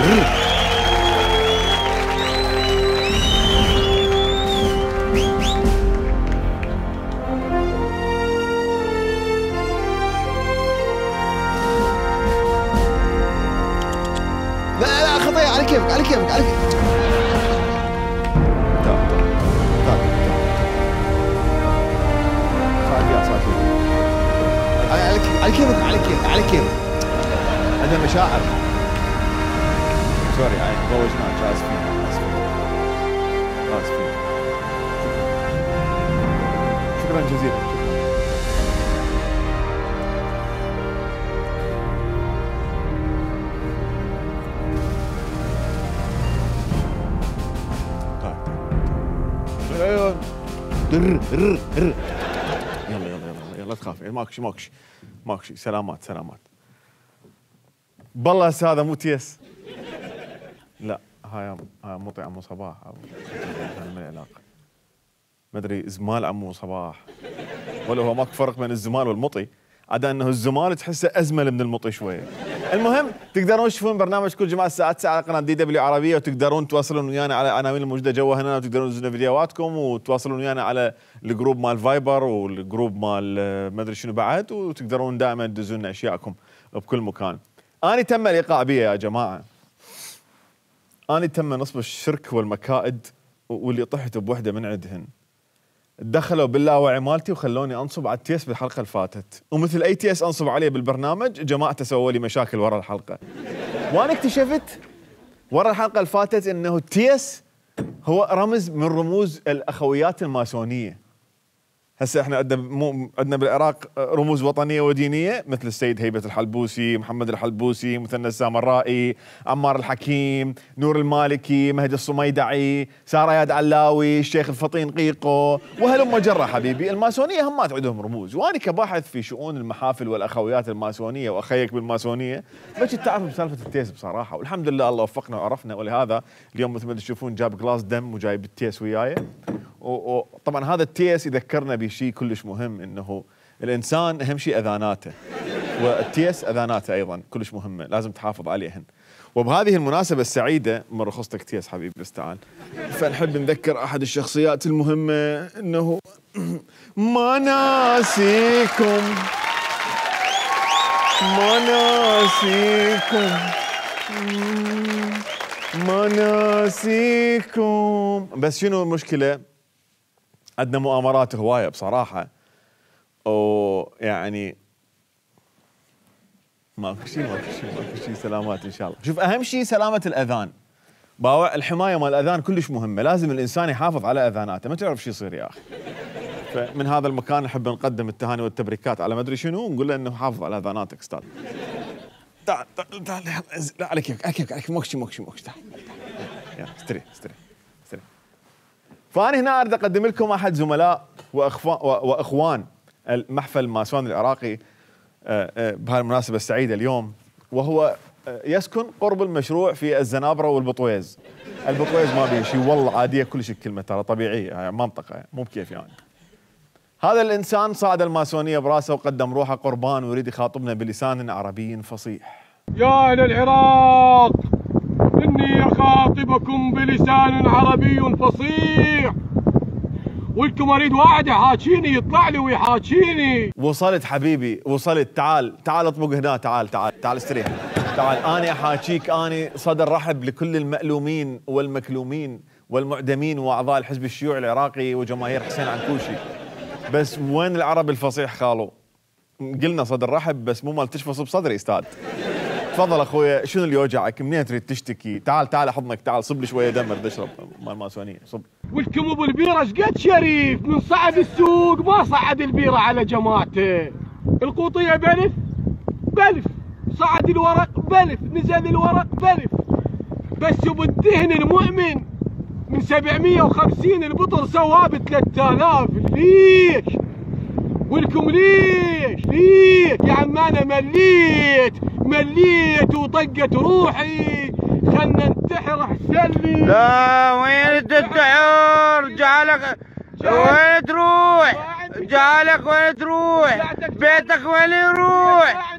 لا خطية، على كيفك على كيفك على كيفك. على كيفك على كيفك على كيفك. عندنا مشاعر. سوري روجناك، اسفين اسفين اسفين. شكرا جزيلا. يلا لا تخاف، ماكشي سلامات. بالله هسه هذا مو تيس. لا هاي مطي عمو صباح من العلاقه، ما ادري زمال عمو صباح ولا هو ماكو فرق بين الزمال والمطي، عدا انه الزمال تحسه ازمل من المطي شويه. المهم تقدرون تشوفون برنامج كل جمعه الساعه 9 على قناه DW عربيه، وتقدرون تواصلون ويانا على العناوين الموجوده جوا هنا، وتقدرون تنزلون فيديوهاتكم وتواصلون ويانا على الجروب مال فايبر والجروب مال ما ادري شنو بعد، وتقدرون دائما تدزون لنا اشياءكم بكل مكان. اني تم الايقاع بي يا جماعه، اني تم نصب الشرك والمكائد، واللي طحت بوحده من عندهن. دخلوا باللاوعي مالتي وخلوني انصب على التيس بالحلقه اللي فاتت، ومثل اي تيس انصب عليه بالبرنامج جماعته سووا لي مشاكل ورا الحلقه. وانا اكتشفت ورا الحلقه اللي فاتت انه التيس هو رمز من رموز الاخويات الماسونيه. هسه احنا عندنا بالعراق رموز وطنيه ودينيه مثل السيد هيبه الحلبوسي، محمد الحلبوسي، مثنى السامرائي، عمار الحكيم، نور المالكي، مهدي الصميدعي، ساره ياد علاوي، الشيخ الفطين قيقو، وهلم جرة حبيبي. الماسونيه همات عندهم رموز، وانا كباحث في شؤون المحافل والاخويات الماسونيه واخيك بالماسونيه ما كنت تعرف بسالفه التيس بصراحه، والحمد لله الله وفقنا وعرفنا، ولهذا اليوم مثل ما تشوفون جاب جلاس دم وجايب التيس وياي. وطبعا هذا التيس يذكرنا بشيء كلش مهم، انه الانسان اهم شيء اذاناته، والتيس اذاناته ايضا كلش مهمه لازم تحافظ عليهن. وبهذه المناسبه السعيده من رخصتك تيس حبيبي بس تعال، فنحب نذكر احد الشخصيات المهمه انه مناسيكم بس شنو المشكله؟ عندنا مؤامرات هوايه بصراحه، ويعني ماكو شيء سلامات ان شاء الله. شوف اهم شيء سلامه الاذان، باوع الحمايه مال الاذان كلش مهمه، لازم الانسان يحافظ على اذاناته، ما تعرف شو يصير يا اخي. فمن هذا المكان نحب نقدم التهاني والتبريكات على ما ادري شنو، ونقول له انه حافظ على اذاناتك استاذ. تعال لا على كيفك موكشي تعال يلا استري. فأنا هنا أريد أقدم لكم أحد زملاء وأخوان المحفل الماسوني العراقي بهالمناسبة السعيدة اليوم، وهو يسكن قرب المشروع في الزنابرة والبطويز. البطويز ما بيه شيء والله، عادية كلش الكلمة ترى طبيعية، يعني منطقة مو بكيف يعني. هذا الإنسان صعد الماسونية براسه وقدم روحه قربان، ويريد يخاطبنا بلسان عربي فصيح. يا أهل العراق، إني أخاطبكم بلسان عربي فصيح، ولكم أريد واحد يحاكيني، يطلع لي ويحاكيني. وصلت حبيبي وصلت، تعال اطبق هنا، تعال استريح، تعال أنا أحاكيك. أنا صدر رحب لكل المألومين والمكلومين والمعدمين وأعضاء الحزب الشيوعي العراقي وجماهير حسين عنكوشي، بس وين العرب الفصيح خالو؟ قلنا صدر رحب بس مو مال تشفص بصدري استاذ. تفضل اخويا، شنو اللي يوجعك؟ منين تريد تشتكي؟ تعال احضنك، تعال صب لي شويه دم اريد اشرب مال ماسونيه، صب. ولكم ابو البيره شقد شريف، من صعد السوق ما صعد البيره على جماعته. القوطيه بلف، صعد الورق بلف، نزل الورق بلف، بس وبالدهن المؤمن من 750 البطر سواه ب 3000. ليش؟ ولكم ليش؟ يا عم انا مليت وطقت روحي، خلنا ننتحر احسن لي. لا وين تنتحر؟ جعلك وين تروح؟ بيتك وين يروح؟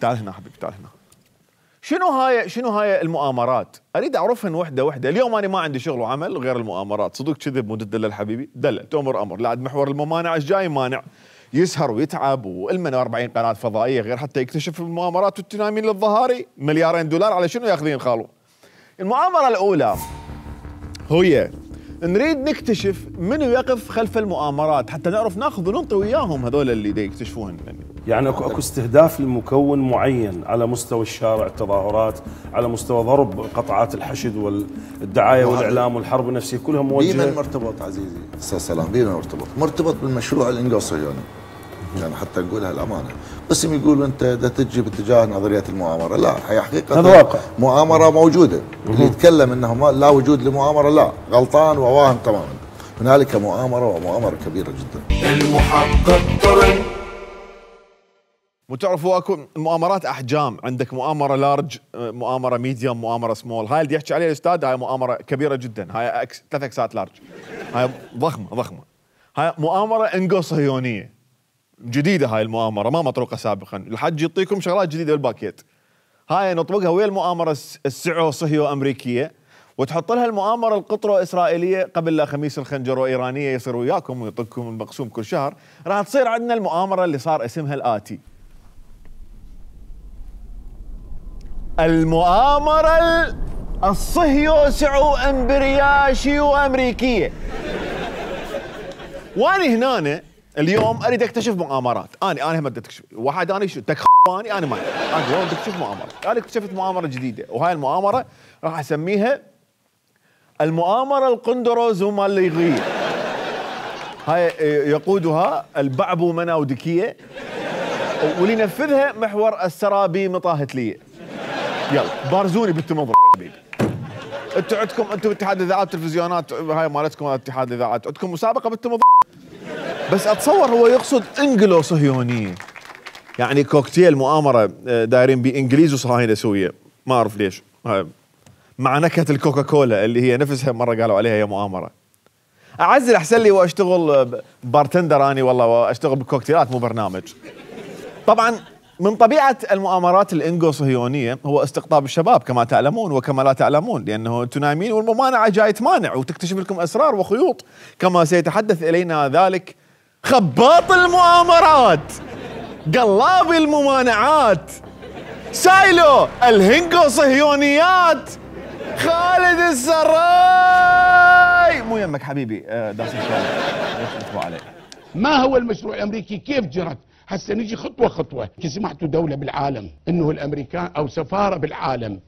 تعال هنا حبيبي تعال هنا. شنو هاي المؤامرات؟ اريد اعرفهن وحده وحده. اليوم انا ما عندي شغل وعمل غير المؤامرات. صدق كذب مو تدلل حبيبي؟ دلل تؤمر امر. لا محور الممانعه ايش جاي مانع؟ يسهر ويتعب والمن 40 قناه فضائيه غير حتى يكتشف المؤامرات والتنامين للظهاري. $2 مليار على شنو ياخذين خالو؟ المؤامره الاولى هي نريد نكتشف منو يقف خلف المؤامرات حتى نعرف ناخذ وننطي وياهم هذول اللي دا يكتشفوهن. يعني اكو استهداف لمكون معين على مستوى الشارع، التظاهرات، على مستوى ضرب قطعات الحشد والدعايه والاعلام والحرب النفسيه كلها موجهه. بمن مرتبط عزيزي استاذ سلام؟ بمن مرتبط بالمشروع الانجلو صهيوني. يعني حتى نقولها الامانه، قسم يقولوا انت دا تجي باتجاه نظريه المؤامره، لا هي حقيقه هذا واقع. مؤامره موجوده. اللي يتكلم انه لا وجود لمؤامره لا غلطان وواهم تماما. هنالك مؤامره ومؤامره كبيره جدا. المحقق طرن. وتعرفوا اكو مؤامرات احجام، عندك مؤامره لارج، مؤامره ميديوم، مؤامره سمول. هاي اللي يحكي عليها الاستاذ هاي مؤامره كبيره جدا، هاي 3 اكسات لارج، هاي ضخمه. هاي مؤامره انجو صهيونيه جديده، هاي المؤامره ما مطروقه سابقا. الحج يعطيكم شغلات جديده بالباكيت. هاي نطبقها ويا المؤامره السعو صهيو امريكيه، وتحط لها المؤامره القطرو اسرائيليه قبل لا خميس الخنجرو ايرانيه يصير وياكم ويعطيكم المقسوم كل شهر. راح تصير عندنا المؤامره اللي صار اسمها الاتي: المؤامره الصهيو سعو امبرياشيو امريكيه. واني هنا اليوم اريد اكتشف مؤامرات. انا هم بدي اكتشف واحد. انا شو تكفاني؟ انا ما انا اليوم بدي اكتشف مؤامرات. انا اكتشفت مؤامره جديده، وهاي المؤامره راح اسميها المؤامره القندروزوماليغيه. هاي يقودها البعبو مناودكيه، واللي ينفذها محور السرابي مطاهتليه. يلا بارزوني بالتمضر حبيبي. انتم عندكم اتحاد الاذاعات والتلفزيونات، هاي مالتكم اتحاد الاذاعات، عندكم مسابقه بالتمضر. بس اتصور هو يقصد انجلو صهيونيه، يعني كوكتيل مؤامره دايرين بانجليز وصهاينه سويه. ما اعرف ليش، مع نكهه الكوكاكولا اللي هي نفسها مره قالوا عليها هي مؤامره. اعزل احسن لي واشتغل بارتندر اني والله، واشتغل بالكوكتيلات مو برنامج. طبعا من طبيعه المؤامرات الانجو صهيونيه هو استقطاب الشباب كما تعلمون وكما لا تعلمون، لانه انتم نايمين والممانعه جاي تمانع وتكتشف لكم اسرار وخيوط، كما سيتحدث الينا ذلك خباط المؤامرات، قلاب الممانعات، سايلو الهنجو صهيونيات، خالد السراي. مو يمك حبيبي داس ان شاء الله عليه. ما هو المشروع الامريكي؟ كيف جرت؟ هسه نجي خطوه خطوه. سمعتوا دوله بالعالم انه الامريكان او سفاره بالعالم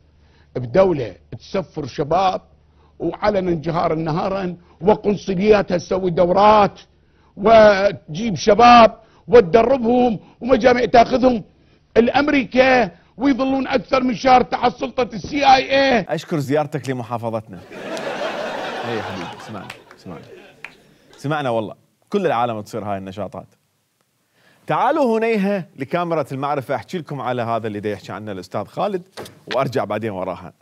بدوله تسفر شباب وعلنا جهارا نهارا، وقنصلياتها تسوي دورات وتجيب شباب وتدربهم ومجامع تاخذهم الامريكا، ويظلون اكثر من شهر تحت سلطه CIA. اشكر زيارتك لمحافظتنا. اي يا حبيبي سمعنا والله كل العالم تصير هاي النشاطات. تعالوا هنيها لكاميرا المعرفة احكي لكم على هذا اللي دا يحكي عنه الاستاذ خالد، وارجع بعدين وراها.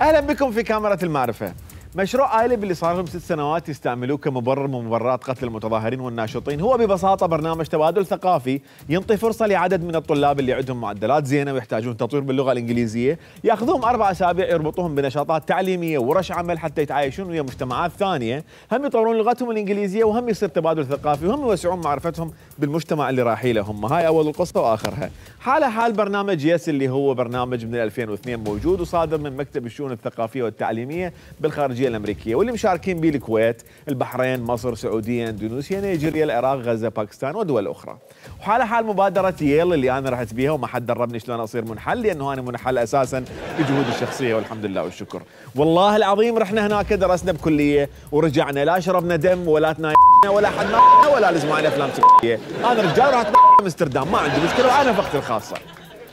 اهلا بكم في كاميرا المعرفة. مشروع آيلب اللي صار لهم 6 سنوات يستعملوه كمبرر من مبررات قتل المتظاهرين والناشطين هو ببساطة برنامج تبادل ثقافي ينطي فرصة لعدد من الطلاب اللي عندهم معدلات زينة ويحتاجون تطوير باللغة الإنجليزية، ياخذوهم 4 أسابيع يربطوهم بنشاطات تعليمية ورش عمل حتى يتعايشون ويا مجتمعات ثانية، هم يطورون لغتهم الإنجليزية وهم يصير تبادل ثقافي وهم يوسعون معرفتهم بالمجتمع اللي رايحين له هم. هاي أول القصة وآخرها. حالة حال برنامج يس اللي هو برنامج من 2002 موجود وصادر من مكتب الشؤون الثقافية والتعليمية بالخارجية الأمريكية، واللي مشاركين به الكويت، البحرين، مصر، سعودية، اندونيسيا، نيجيريا، العراق، غزة، باكستان ودول أخرى. وحالة حال مبادرة ييل اللي أنا رحت بيها وما حد دربني شلون أصير منحل، لأنه أنا منحل أساساً بجهودي الشخصية والحمد لله والشكر. والله العظيم رحنا هناك درسنا بكلية ورجعنا، لا شربنا دم ولا تناينا ولا حد ما ولا لزم على أفلام سيئة. أنا رجال رحت امستردام ما عندي مشكلة وأنا نفقتي الخاصة.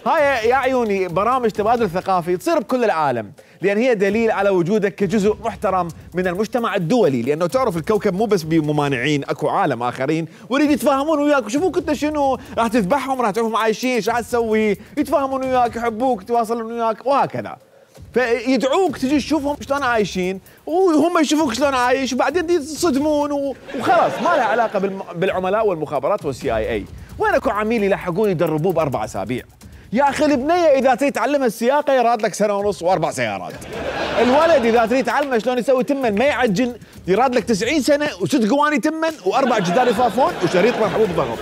هاي يا عيوني برامج تبادل ثقافي تصير بكل العالم، لأن هي دليل على وجودك كجزء محترم من المجتمع الدولي، لأنه تعرف الكوكب مو بس بممانعين، أكو عالم آخرين ويريد يتفاهمون وياك ويشوفوك أنت شنو راح تذبحهم، راح تعرفهم عايشين، ايش راح تسوي، يتفاهمون وياك، يحبوك، يتواصلون وياك وهكذا. فيدعوك تجي تشوفهم شلون عايشين وهم يشوفوك شلون عايش، وبعدين تصدمون وخلاص ما لها علاقة بالعملاء والمخابرات والCIA. وين اكو عميل يلحقون يدربوه ب4 أسابيع. يا اخي البنيه اذا تريد تعلمها السياقه يراد لك سنه ونص واربع سيارات. الولد اذا تريد تعلمه شلون يسوي تمن ما يعجن يراد لك 90 سنه وست قواني تمن واربع جدار يفافون وشريط من حبوب ضغط.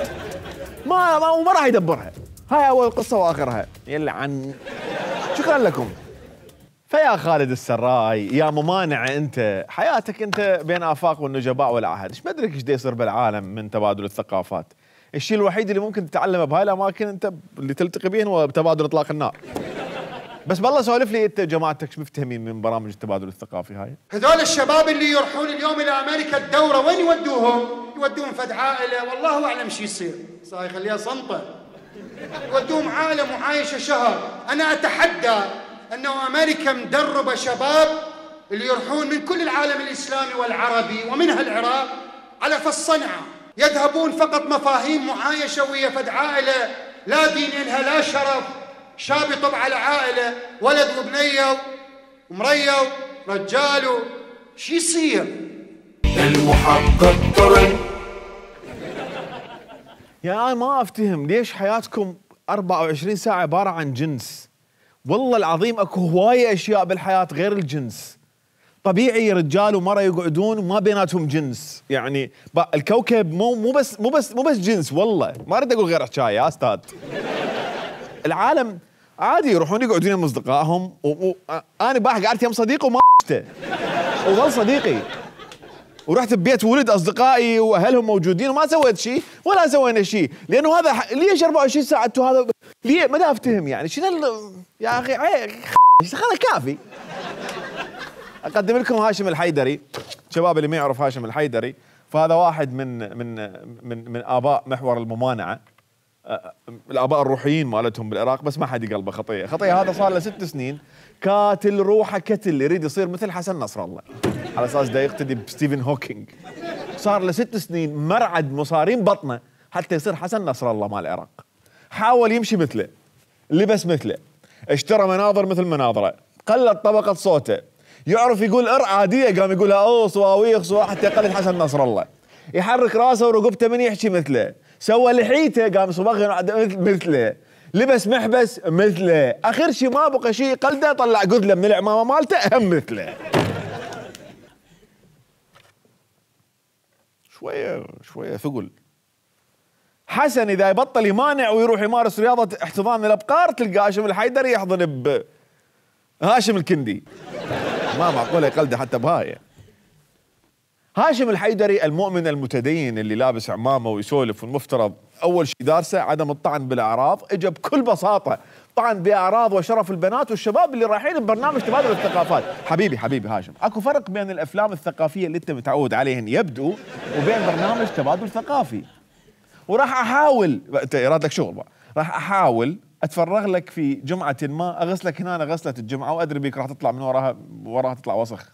ما راح يدبرها. هاي اول قصه واخرها. يلعن. شكرا لكم. فيا خالد السراي يا ممانع انت، حياتك انت بين افاق والنجباء والعهد، ايش مدرك ايش يصير بالعالم من تبادل الثقافات. الشيء الوحيد اللي ممكن تتعلمه بهاي الاماكن انت اللي تلتقي بهم هو تبادل اطلاق النار. بس بالله سولف لي انت جماعتك شو مفتهمين من برامج التبادل الثقافي هاي؟ هذول الشباب اللي يروحون اليوم الى امريكا الدوره وين يودوهم؟ يودوهم فد عائله والله اعلم شو يصير، صاير يخليها صنطه. يودوهم عائله معايشه شهر، انا اتحدى انه امريكا مدربه شباب اللي يروحون من كل العالم الاسلامي والعربي ومنها العراق على فالصنعه، يذهبون فقط مفاهيم معايشه ويا فد عائله لا دين لها لا شرف، شاب يطب على عائله ولد وبنيه ومريه رجال شو يصير؟ المحقق طرن. يا أنا ما افتهم ليش حياتكم 24 ساعه عباره عن جنس. والله العظيم اكو هوايه اشياء بالحياه غير الجنس. طبيعي رجال ومرأة يقعدون وما بيناتهم جنس، يعني الكوكب مو بس جنس، والله ما اريد اقول غير حكايه يا استاذ. العالم عادي يروحون يقعدون مع اصدقائهم انا باح قعدت يم صديقي وما وظل صديقي. ورحت ببيت ولد اصدقائي واهلهم موجودين وما سويت شيء ولا سوينا شيء، لانه هذا ليش 24 ساعه انتم هذا ليه ما افتهم يعني شنو يا اخي خلاص كافي. اقدم لكم هاشم الحيدري، شباب اللي ما يعرف هاشم الحيدري فهذا واحد من اباء محور الممانعه، الاباء الروحيين مالتهم بالعراق، بس ما حد يقلبه خطيه هذا صار له 6 سنين كاتل روحه كتل يريد يصير مثل حسن نصر الله على اساس دا يقتدي بستيفن هوكينج. صار له 6 سنين مرعد مصارين بطنه حتى يصير حسن نصر الله مال العراق. حاول يمشي مثله، لبس مثله، اشترى مناظر مثل مناظره، قلت طبقه صوته، يعرف يقول عاديه قام يقولها صواويخ حتى يقلد حسن نصر الله، يحرك راسه ورقبته من يحكي مثله، سوى لحيته قام صبغ مثله، لبس محبس مثله، اخر شيء ما بقى شيء قلده طلع قذله من العمامه مالته هم مثله. شويه ثقل. حسن اذا يبطل يمانع ويروح يمارس رياضه احتضان الابقار تلقى هاشم الحيدري يحضن هاشم الكندي. ما معقوله يقلده حتى بهاي. هاشم الحيدري المؤمن المتدين اللي لابس عمامه ويسولف، والمفترض اول شيء دارسه عدم الطعن بالاعراض، اجى بكل بساطه طعن باعراض وشرف البنات والشباب اللي رايحين ببرنامج تبادل الثقافات. حبيبي هاشم، اكو فرق بين الافلام الثقافيه اللي انت متعود عليهن يبدو وبين برنامج تبادل ثقافي. وراح احاول انت يراد لك شغل بقى. راح احاول اتفرغ لك في جمعه ما اغسلك هنا غسله الجمعه وادري بيك راح تطلع من وراها تطلع وسخ.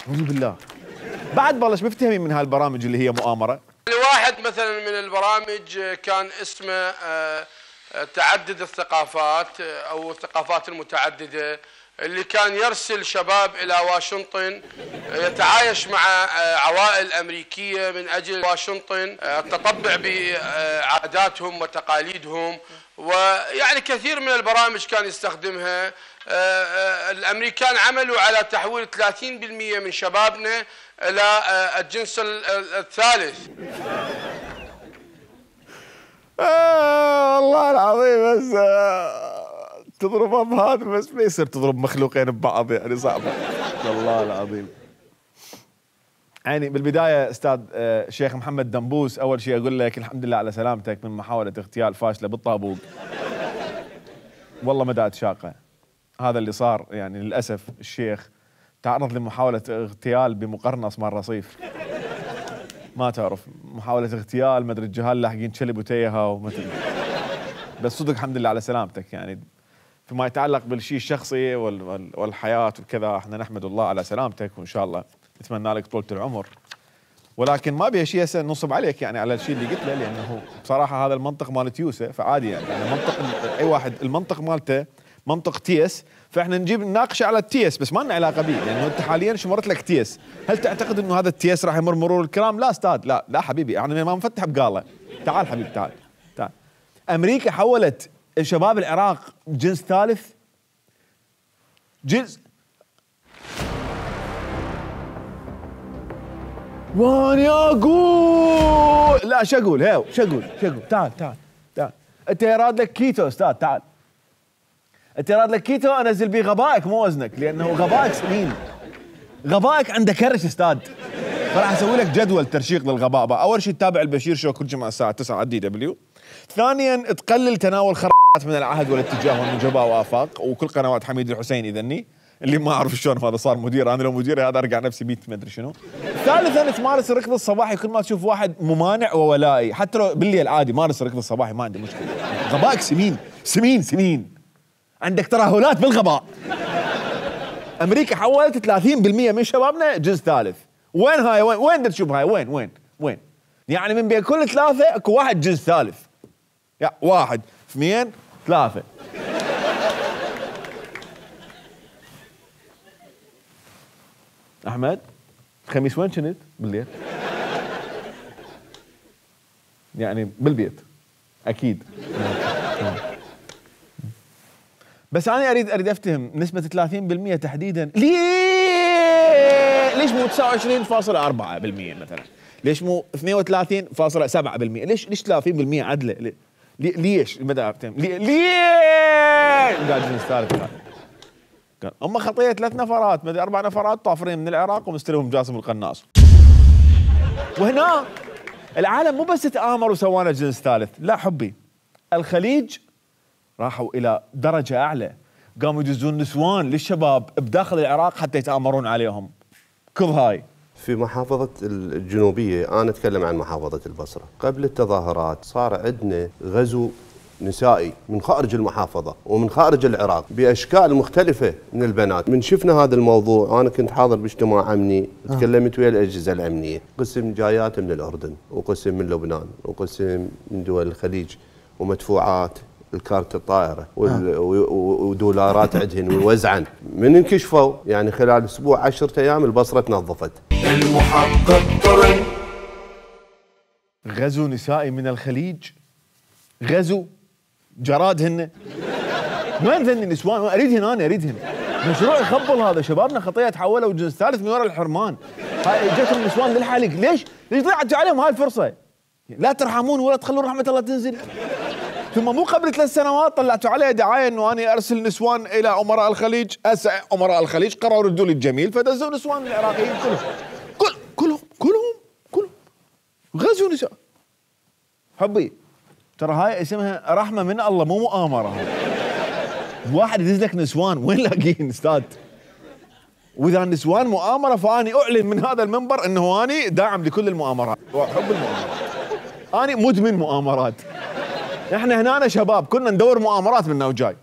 أعوذ بالله. بعد بلش مفتهمين من هالبرامج اللي هي مؤامره. واحد مثلا من البرامج كان اسمه تعدد الثقافات او الثقافات المتعدده، اللي كان يرسل شباب الى واشنطن يتعايش مع عوائل امريكيه من اجل واشنطن التطبع بعاداتهم وتقاليدهم، ويعني كثير من البرامج كان يستخدمها. الامريكان عملوا على تحويل 30% من شبابنا الى الجنس الثالث. والله العظيم بس تضربها بهذا بس ما يصير تضرب مخلوقين ببعض، يعني صعبه والله العظيم. يعني بالبدايه استاذ شيخ محمد دنبوس، اول شيء اقول لك الحمد لله على سلامتك من محاوله اغتيال فاشله بالطابوق. والله مدات شاقه هذا اللي صار، يعني للاسف الشيخ تعرض لمحاوله اغتيال بمقرنص مال رصيف. ما تعرف محاوله اغتيال ما ادري الجهال لاحقين شلب وتيها وما ادري. بس صدق الحمد لله على سلامتك. يعني فيما يتعلق بالشيء الشخصي والحياه وكذا احنا نحمد الله على سلامتك، وان شاء الله نتمنى لك طولة العمر. ولكن ما بيها شيء هسه ننصب عليك يعني على الشيء اللي قلت له، لانه بصراحه هذا المنطق مال تيوسه فعادي يعني منطق اي واحد المنطق مالته منطق تيس، فاحنا نجيب نناقش على التيس بس ما لنا علاقه به، لانه انت حاليا شمرت لك تيس، هل تعتقد انه هذا التيس راح يمر مرور الكرام؟ لا استاذ، لا لا حبيبي، احنا ما نفتح بقاله. تعال حبيبي تعال تعال. امريكا حولت شباب العراق جنس ثالث، جنس واني اقول لا شو اقول هيو شو اقول تعال تعال تعال. انت يراد لك كيتو استاذ، تعال انت يراد لك كيتو انزل بيه غبائك مو وزنك، لانه غبائك سمين، غبائك عنده كرش استاذ. فراح اسوي لك جدول ترشيق للغباء بقى. اول شيء تتابع البشير شو كل جمعه الساعه 9 على الدي دبليو. ثانيا تقلل تناول من العهد والاتجاه والنجباء وافاق وكل قنوات حميد الحسين اذني اللي ما اعرف شلون هذا صار مدير، انا لو مدير هذا ارجع نفسي بيت ما ادري شنو. ثالثا تمارس الركض الصباحي، كل ما تشوف واحد ممانع وولائي حتى لو بالليل عادي مارس الركض الصباحي ما عندي مشكله. غبائك سمين سمين سمين، عندك ترهلات بالغباء. امريكا حولت 30% من شبابنا جنس ثالث. وين هاي؟ وين بدك تشوف هاي؟ وين يعني من بين كل ثلاثه اكو واحد جنس ثالث. يا 1 2 3. احمد الخميس وين كنت؟ بالليل يعني بالبيت اكيد. بس انا اريد افتهم نسبة 30% تحديدا ليش مو 29.4% مثلا؟ ليش مو 32.7%؟ ليش 30% عدله؟ ليش؟ بدأ افتهم ليش قاعد جنس ثالث. هم خطيه 3 نفرات ما ادري 4 نفرات طافرين من العراق ومستلمهم جاسم القناص. وهنا العالم مو بس تآمر وسوانا جنس ثالث، لا حبي، الخليج راحوا الى درجه اعلى، قاموا يدزون نسوان للشباب بداخل العراق حتى يتآمرون عليهم. كذ هاي في محافظة الجنوبية، أنا أتكلم عن محافظة البصرة، قبل التظاهرات صار عندنا غزو نسائي من خارج المحافظة ومن خارج العراق بأشكال مختلفة من البنات. من شفنا هذا الموضوع، أنا كنت حاضر باجتماع أمني، تكلمت ويا الأجهزة الأمنية، قسم جايات من الأردن وقسم من لبنان وقسم من دول الخليج، ومدفوعات الكارت الطائرة ودولارات عندهن ووزعن. من انكشفوا يعني خلال أسبوع 10 أيام البصرة تنظفت. المحقق طرن غزو نسائي من الخليج، غزو جرادهن. وين ذني النسوان؟ اريدهن، انا اريدهن. مشروع يخبل هذا، شبابنا خطيه تحولوا جنس ثالث من وراء الحرمان. هاي جتهم النسوان للحلق، ليش ضيعتوا عليهم هاي الفرصه؟ لا ترحمون ولا تخلون رحمه الله تنزل. ثم مو قبل 3 سنوات طلعتوا عليه دعايه انه اني ارسل نسوان الى امراء الخليج، امراء الخليج قرروا ردوا لي الجميل فدزوا نسوان العراقيين كلهم غزوا نساء. حبي ترى هاي اسمها رحمه من الله مو مؤامره. واحد يدز لك نسوان وين لاقيين استاذ؟ واذا النسوان مؤامره فاني اعلن من هذا المنبر انه اني داعم لكل المؤامرات واحب المؤامرات. اني مدمن مؤامرات. احنا هنا شباب كنا ندور مؤامرات منا وجاي.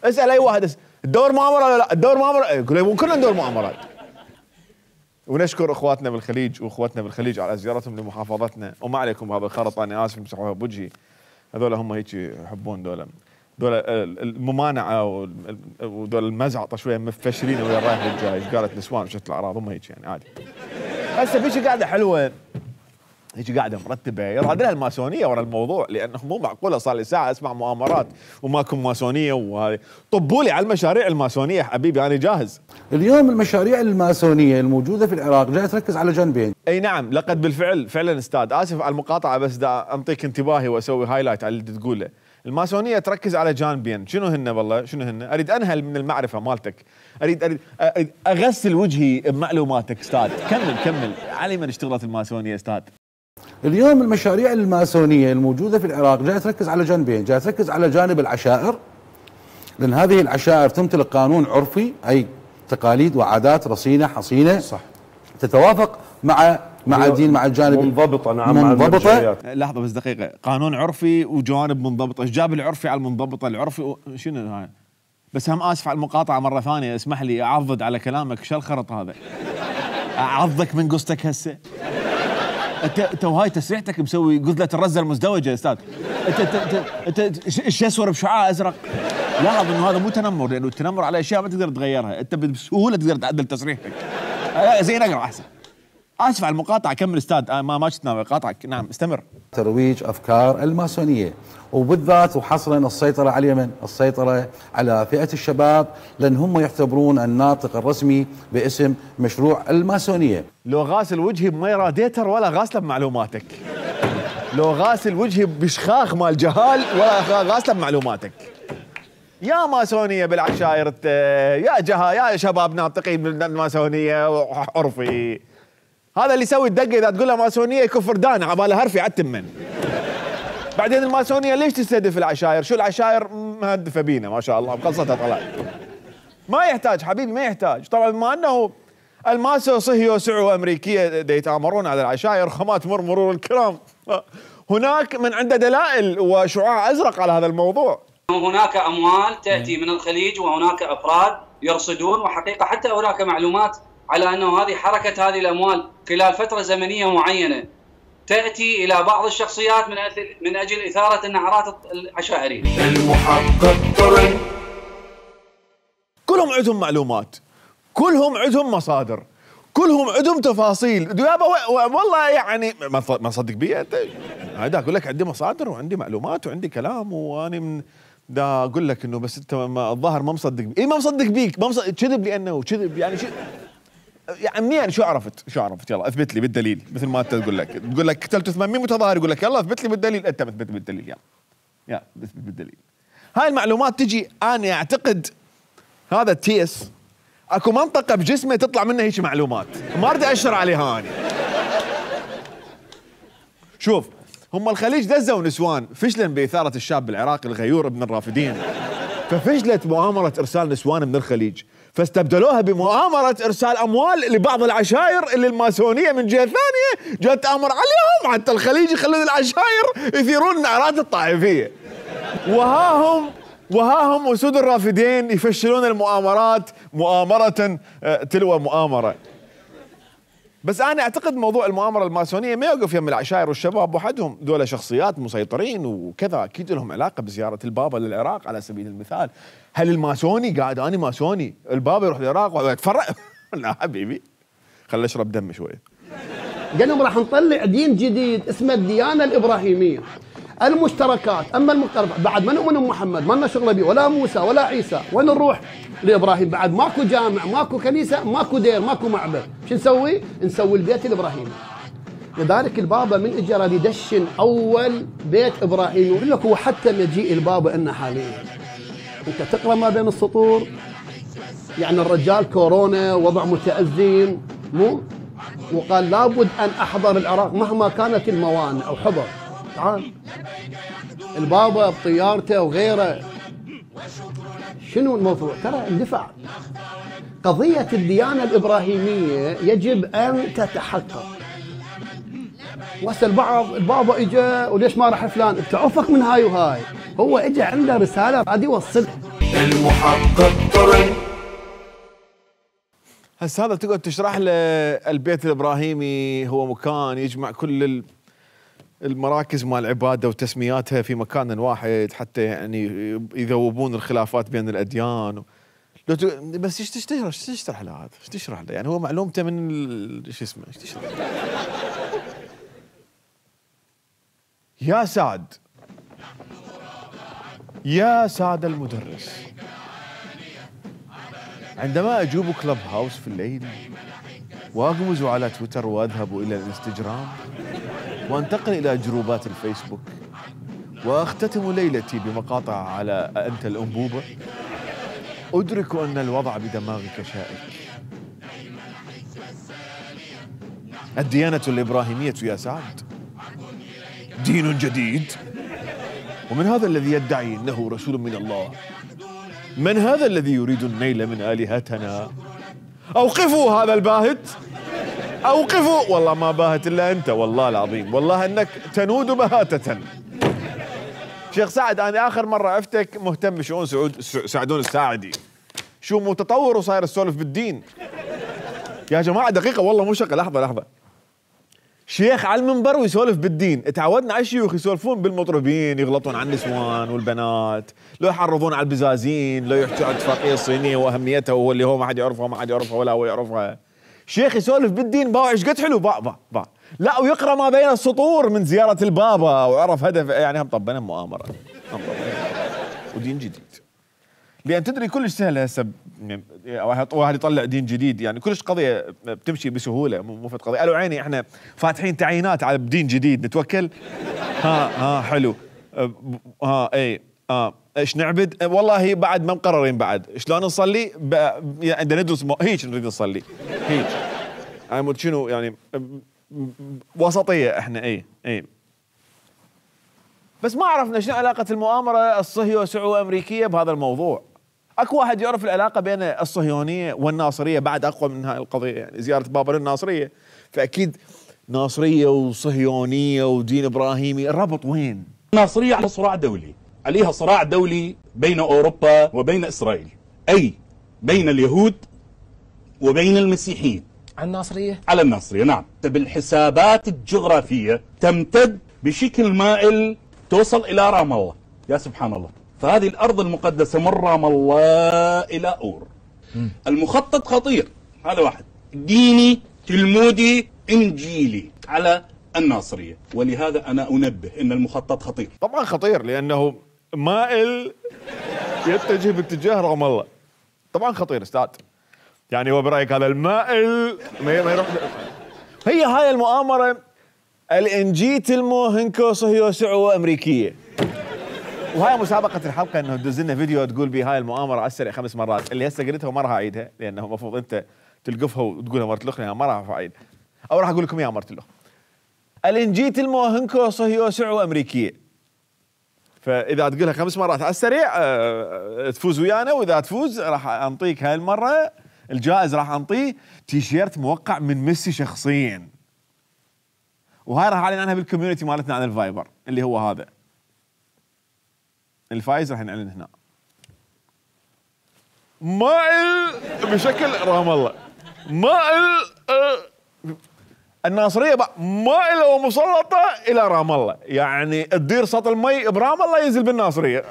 اسال اي واحد تدور مؤامره ولا لا؟ تدور مؤامره؟ يقول كنا ندور مؤامرات. ونشكر اخواتنا بالخليج واخواتنا بالخليج على زيارتهم لمحافظتنا، وما عليكم بهذا الخرط، انا اسف مسحوها بوجهي. هذول هم هيك يحبون دول الممانعه ودول المزعطه شويه مفشرين ويا الرايح والجاي. ايش قالت نسوان وشت الاعراض هم هيك يعني عادي. هسه فيش قاعده حلوه، هيك قاعده مرتبه، يراد لها الماسونيه ورا الموضوع، لانه مو معقوله صار لي ساعه اسمع مؤامرات وماكو ماسونيه وهذه. طبوا لي على المشاريع الماسونيه حبيبي انا جاهز. اليوم المشاريع الماسونيه الموجوده في العراق جايه تركز على جانبين. اي نعم، لقد بالفعل فعلا استاذ، اسف على المقاطعه بس دا انطيك انتباهي واسوي هايلايت على اللي تقوله. الماسونيه تركز على جانبين، شنو هن والله؟ شنو هن؟ اريد انهل من المعرفه مالتك، اريد اغسل وجهي بمعلوماتك استاذ. كمل علي من اشتغلت الماسونيه استاذ. اليوم المشاريع الماسونيه الموجوده في العراق جايه تركز على جانبين، جايه تركز على جانب العشائر، لان هذه العشائر تمتلك قانون عرفي، اي تقاليد وعادات رصينه حصينه صح تتوافق مع الدين، مع الجانب منضبطه. نعم منضبطه. لحظه بس دقيقه، قانون عرفي وجوانب منضبطه، ايش جاب العرفي على المنضبطه؟ العرفي شنو هاي؟ بس هم اسف على المقاطعه مره ثانيه، اسمح لي اعضد على كلامك، شو الخرط هذا؟ اعضك من قصتك هسه؟ انت وهاي تسريحتك مسوي قزله الرزه المزدوجه يا استاذ. انت ايش اسور بشعاع ازرق؟ لاحظ انه هذا مو تنمر، لانه التنمر على اشياء ما تقدر تغيرها، انت بسهوله تقدر تعدل تصريحك. زين اقرا احسن. اسف على المقاطعه، كمل استاذ. ما شفت قاطعك. نعم استمر. ترويج افكار الماسونيه، وبالذات وحصرا السيطره على اليمن، السيطره على فئه الشباب، لان هم يعتبرون الناطق الرسمي باسم مشروع الماسونيه. لو غاسل وجهي بمي راديتر ولا غاسله بمعلوماتك. لو غاسل وجهي بشخاخ مال جهال ولا غاسله بمعلوماتك. يا ماسونيه بالعشائر، يا شباب ناطقين بالماسونيه وعرفي. هذا اللي يسوي الدقه اذا تقول له ماسونيه يكفر دانا عباله هرفي عالتمن. بعدين الماسونيه ليش تستهدف العشائر؟ شو العشائر مهدفه بينا ما شاء الله بقصتها طلع. ما يحتاج حبيبي، ما يحتاج. طبعا بما انه الماسو صهيو سعو امريكيه يتامرون على العشائر، خمات مرور الكرام، هناك من عنده دلائل وشعاع ازرق على هذا الموضوع. هناك اموال تاتي من الخليج، وهناك افراد يرصدون، وحقيقه حتى هناك معلومات على انه هذه حركه هذه الاموال خلال فتره زمنيه معينه تاتي الى بعض الشخصيات من اجل اثاره النعرات العشائريه. المحقق قرن. كلهم عندهم معلومات، كلهم عندهم مصادر، كلهم عندهم تفاصيل. والله يعني ما صدق بي انت. هذا اقول لك عندي مصادر وعندي معلومات وعندي كلام، وانا من دا اقول لك انه بس انت الظاهر ما مصدق بي. ما مصدق بيك، ما مصدق. كذب لانه كذب يعني يعني منين؟ شو عرفت؟ يلا اثبت لي بالدليل. مثل ما انت تقول لك قتلت 800 متظاهر، يقول لك يلا اثبت لي بالدليل. انت اثبت بالدليل. يلا اثبت بالدليل. هاي المعلومات تجي، انا اعتقد هذا التيس اكو منطقه بجسمه تطلع منها هيك معلومات، ما اريد اشر عليها انا. شوف، هم الخليج دزوا نسوان فشلا باثاره الشاب العراقي الغيور ابن الرافدين، ففشلت مؤامره ارسال نسوان من الخليج، فاستبدلوها بمؤامره ارسال اموال لبعض العشائر اللي الماسونيه من جهه ثانيه جات تامر عليهم حتى الخليج يخلون العشائر يثيرون النعرات الطائفيه. وها هم اسود الرافدين يفشلون المؤامرات مؤامره تلو مؤامره. بس انا اعتقد موضوع المؤامره الماسونيه ما يوقف يم العشائر والشباب وحدهم، دول شخصيات مسيطرين وكذا، اكيد لهم علاقه بزياره البابا للعراق على سبيل المثال. هل الماسوني قاعد انا ماسوني البابا يروح العراق ويتفرق؟ لا حبيبي، خلينا نشرب دم شويه. قال لهم راح نطلع دين جديد اسمه الديانه الابراهيميه. المشتركات، اما المختلفات بعد ما نؤمن بمحمد ما لنا شغله به، ولا موسى ولا عيسى، وين نروح؟ لابراهيم. بعد ماكو جامع، ماكو كنيسه، ماكو دير، ماكو معبد، شو نسوي؟ نسوي البيت الابراهيمي. لذلك البابا من اجى راد يدشن اول بيت ابراهيمي، ويقول لك هو حتى مجيء البابا لنا حاليا. انت تقرا ما بين السطور، يعني الرجال كورونا وضع متأزم، مو؟ وقال لابد ان احضر العراق مهما كانت الموانع، او حضر. تعال البابا بطيارته وغيره. شنو الموضوع؟ ترى اندفع. قضية الديانة الإبراهيمية يجب أن تتحقق. وهسه البابا اجى وليش ما راح فلان؟ بتعوفك من هاي وهاي. هو اجى عنده رسالة قاعد يوصلها. المحقق قرن. هسه هذا تقعد تشرح له البيت الإبراهيمي هو مكان يجمع كل المراكز مال العباده وتسمياتها في مكان واحد حتى يعني يذوبون الخلافات بين الاديان. بس ايش تشرح له هذا؟ ايش تشرح له؟ يعني هو معلومته من شو اسمه، ايش تشرح له؟ يا سعد المدرس، عندما اجوب كلب هاوس في الليل واغمز على تويتر واذهب الى الانستغرام وانتقل الى جروبات الفيسبوك واختتم ليلتي بمقاطع على انت الانبوبه، ادرك ان الوضع بدماغك شائك. الديانه الابراهيميه يا سعد دين جديد، ومن هذا الذي يدعي انه رسول من الله؟ من هذا الذي يريد النيل من الهتنا؟ اوقفوا هذا الباهت، اوقفوا. والله ما باهت الا انت، والله العظيم، والله انك تنود بهاتة. شيخ سعد، انا اخر مره عفتك مهتم بشؤون سعدون الساعدي، شو متطور وصاير السولف بالدين. يا جماعه دقيقه والله مو شغله، لحظه. شيخ على المنبر ويسولف بالدين. تعودنا على الشيوخ يسولفون بالمطربين، يغلطون على النسوان والبنات، لو يحرضون على البزازين، لو يحكوا عن اتفاقية الصينية واهميتها واللي هو ما حد يعرفها ما حد يعرفها ولا هو يعرفها. شيخ يسولف بالدين باع ايش قد حلو باع لا، ويقرا ما بين السطور من زيارة البابا وعرف هدف، يعني هم طبنا مؤامرة ودين جديد. لأن تدري كلش سهل هسه واحد يطلع دين جديد، يعني كلش قضية بتمشي بسهولة، مو فد قضية قالوا عيني احنا فاتحين تعيينات على بدين جديد نتوكل. ها حلو. اي ايش نعبد؟ والله بعد ما مقررين بعد شلون نصلي، عندنا ندرس هيك نريد نصلي هيك. يعني شنو يعني وسطية احنا. اي بس ما عرفنا شنو علاقة المؤامرة الصهيو سعو امريكية بهذا الموضوع. اكو واحد يعرف العلاقة بين الصهيونية والناصرية بعد اقوى من هاي القضية، يعني زيارة بابا للناصرية، فاكيد ناصرية وصهيونية ودين ابراهيمي الربط وين؟ الناصرية على صراع دولي، عليها صراع دولي بين اوروبا وبين اسرائيل، اي بين اليهود وبين المسيحيين. على الناصرية؟ على الناصرية نعم. بالحسابات الجغرافية تمتد بشكل مائل توصل إلى رام الله. يا سبحان الله. فهذه الأرض المقدسة من رام الله إلى أور. المخطط خطير، هذا واحد، ديني تلمودي إنجيلي على الناصرية، ولهذا أنا أنبه إن المخطط خطير. طبعا خطير لأنه مائل يتجه باتجاه رام الله. طبعا خطير استاذ، يعني هو برأيك هذا المائل ما يروح. هي هاي المؤامرة الانجي تلمو هنكو صهيو سعو امريكية، وهاي مسابقة الحلقة انه تدز لنا فيديو تقول بي هاي المؤامرة على السريع 5 مرات، اللي هسه قلتها وما راح اعيدها لانه المفروض انت تلقفها وتقولها مرة الاخرى، ما راح اعيدها او راح اقول لكم اياها مرة الاخرى. الانجي تلمو هنكو صهيو سعو امريكية، فاذا تقولها 5 مرات على السريع تفوز ويانا، واذا تفوز راح انطيك هاي المرة الجائز، راح انطيه تيشيرت موقع من ميسي شخصيا، وهاي راح اعلن عنها بالكوميونتي مالتنا على الفايبر اللي هو هذا. الفايز راح نعلن هنا. مائل بشكل رام الله، مائل الناصرية مائلة ومسلطة الى رام الله، يعني تدير سطل المي برام الله ينزل بالناصرية.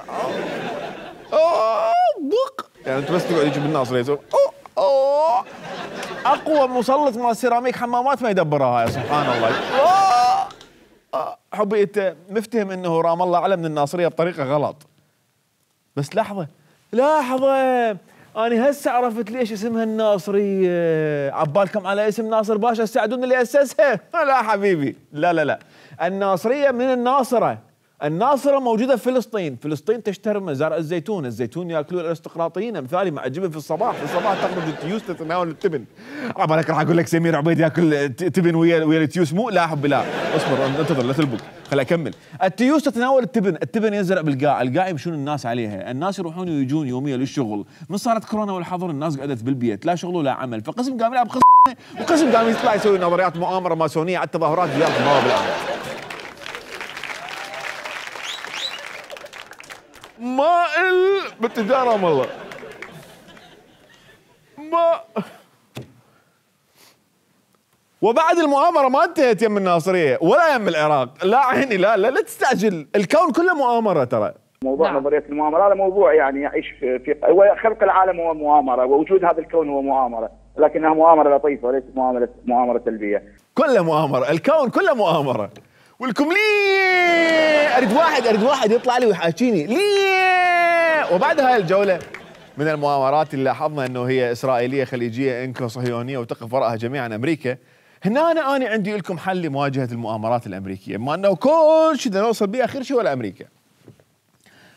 بق يعني انت بس تقعد يجي بالناصرية اقوى مسلط مال سيراميك حمامات ما يدبرها هاي، سبحان الله. حبي انت مفتهم انه رام الله اعلى من الناصريه بطريقه غلط، بس لحظه انا هسه عرفت ليش اسمها الناصريه. عبالكم على اسم ناصر باشا تساعدون اللي اسسها؟ لا حبيبي، لا الناصريه من الناصره. الناصرة موجودة في فلسطين تشتهر مزارع الزيتون ياكلون الارستقراطيين. مثالي مع الجبن في الصباح تخرج التيوس تتناول التبن. عبالك راح اقول لك سمير عبيد ياكل تبن ويا التيوس، مو لا حبي لا، اصبر انتظر لا تلبق، خليني اكمل. التيوس تتناول التبن ينزرع بالقاع، القاع يمشون الناس عليها، الناس يروحون ويجون يوميا للشغل. من صارت كورونا والحظر الناس قعدت بالبيت، لا شغل ولا عمل، فقسم قام يلعب وقسم قام يطلع يسوي نظريات مؤامرة ماسونية على التظاهرات زيارة البوابة بالعالم. مائل بالتجارة والله وبعد المؤامرة ما انتهت يم الناصرية ولا يم العراق. لا عيني لا تستعجل، الكون كله مؤامرة ترى. موضوع نظرية المؤامرة هذا موضوع يعني يعيش في خلق العالم هو مؤامرة، ووجود هذا الكون هو مؤامرة، لكنها مؤامرة لطيفة وليست مؤامرة سلبية. كله مؤامرة، الكون كله مؤامرة. ولكم ليه اريد واحد يطلع لي ويحاكيني ليه. وبعد هاي الجولة من المؤامرات اللي لاحظنا انه هي اسرائيلية خليجية انكو صهيونية وتقف وراءها جميعا امريكا، هنا انا عندي لكم حل لمواجهة المؤامرات الامريكية، بما انه كل شيء بدنا نوصل به اخر شيء ولا امريكا.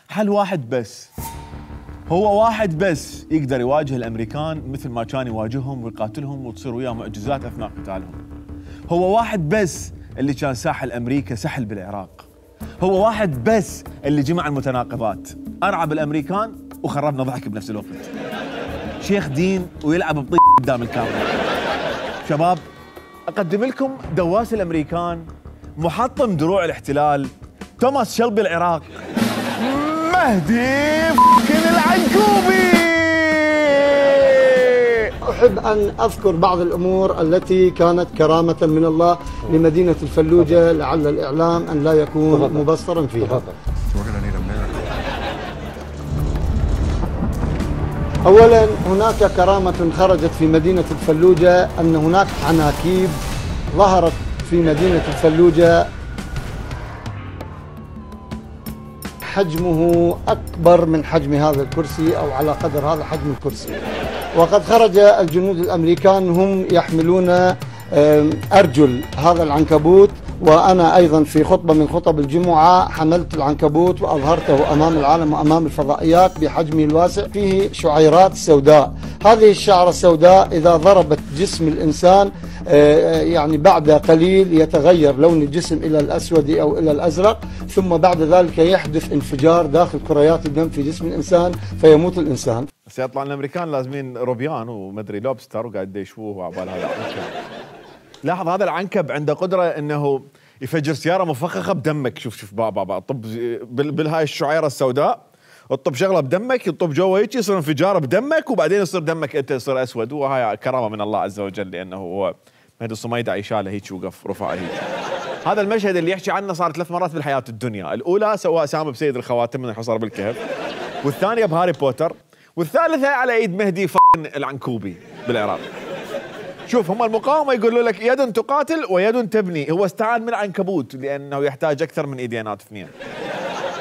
حل واحد بس، هو واحد بس يقدر يواجه الامريكان مثل ما كان يواجههم ويقاتلهم وتصير وياهم معجزات اثناء قتالهم. هو واحد بس اللي كان ساحل امريكا سحل بالعراق. هو واحد بس اللي جمع المتناقضات، ارعب الامريكان وخربنا ضحك بنفس الوقت. شيخ دين ويلعب بطيق قدام الكاميرا. شباب اقدم لكم دواس الامريكان، محطم دروع الاحتلال، توماس شلبي العراق، مهدي العنكوبي. أحب أن أذكر بعض الأمور التي كانت كرامة من الله لمدينة الفلوجة، لعل الإعلام أن لا يكون مبصرا فيها. أولا هناك كرامة خرجت في مدينة الفلوجة، أن هناك عناكيب ظهرت في مدينة الفلوجة حجمه أكبر من حجم هذا الكرسي أو على قدر هذا حجم الكرسي. وقد خرج الجنود الأمريكان هم يحملون أرجل هذا العنكبوت، وأنا أيضا في خطبة من خطب الجمعة حملت العنكبوت وأظهرته أمام العالم وأمام الفضائيات بحجمه الواسع، فيه شعيرات سوداء. هذه الشعرة السوداء إذا ضربت جسم الإنسان يعني بعد قليل يتغير لون الجسم إلى الأسود أو إلى الأزرق، ثم بعد ذلك يحدث انفجار داخل كريات الدم في جسم الإنسان فيموت الإنسان. سيطلع الأمريكان لازمين روبيان ومدري لوبستر وقاعد يشووه وعبال هذا العنكب. لاحظ هذا العنكب عنده قدرة انه يفجر سيارة مفخخة بدمك. شوف بابا طب بالهاي الشعيرة السوداء، الطب شغله بدمك، الطب جوا هيك يصير انفجار بدمك، وبعدين يصير دمك انت يصير اسود. وهاي كرامة من الله عز وجل، لانه هو مهدي الصميدعي شاله هيك وقف رفعه هيك. هذا المشهد اللي يحكي عنه صار 3 مرات بالحياة الدنيا، الأولى سواء سام بسيد الخواتم من الحصار بالكهف، والثانية بهاري بوتر، والثالثة على ايد مهدي العنكوبي بالعراق. شوف هم المقاومة يقولوا لك يد تقاتل ويد تبني، هو استعان من عنكبوت لأنه يحتاج أكثر من إيدينات اثنين.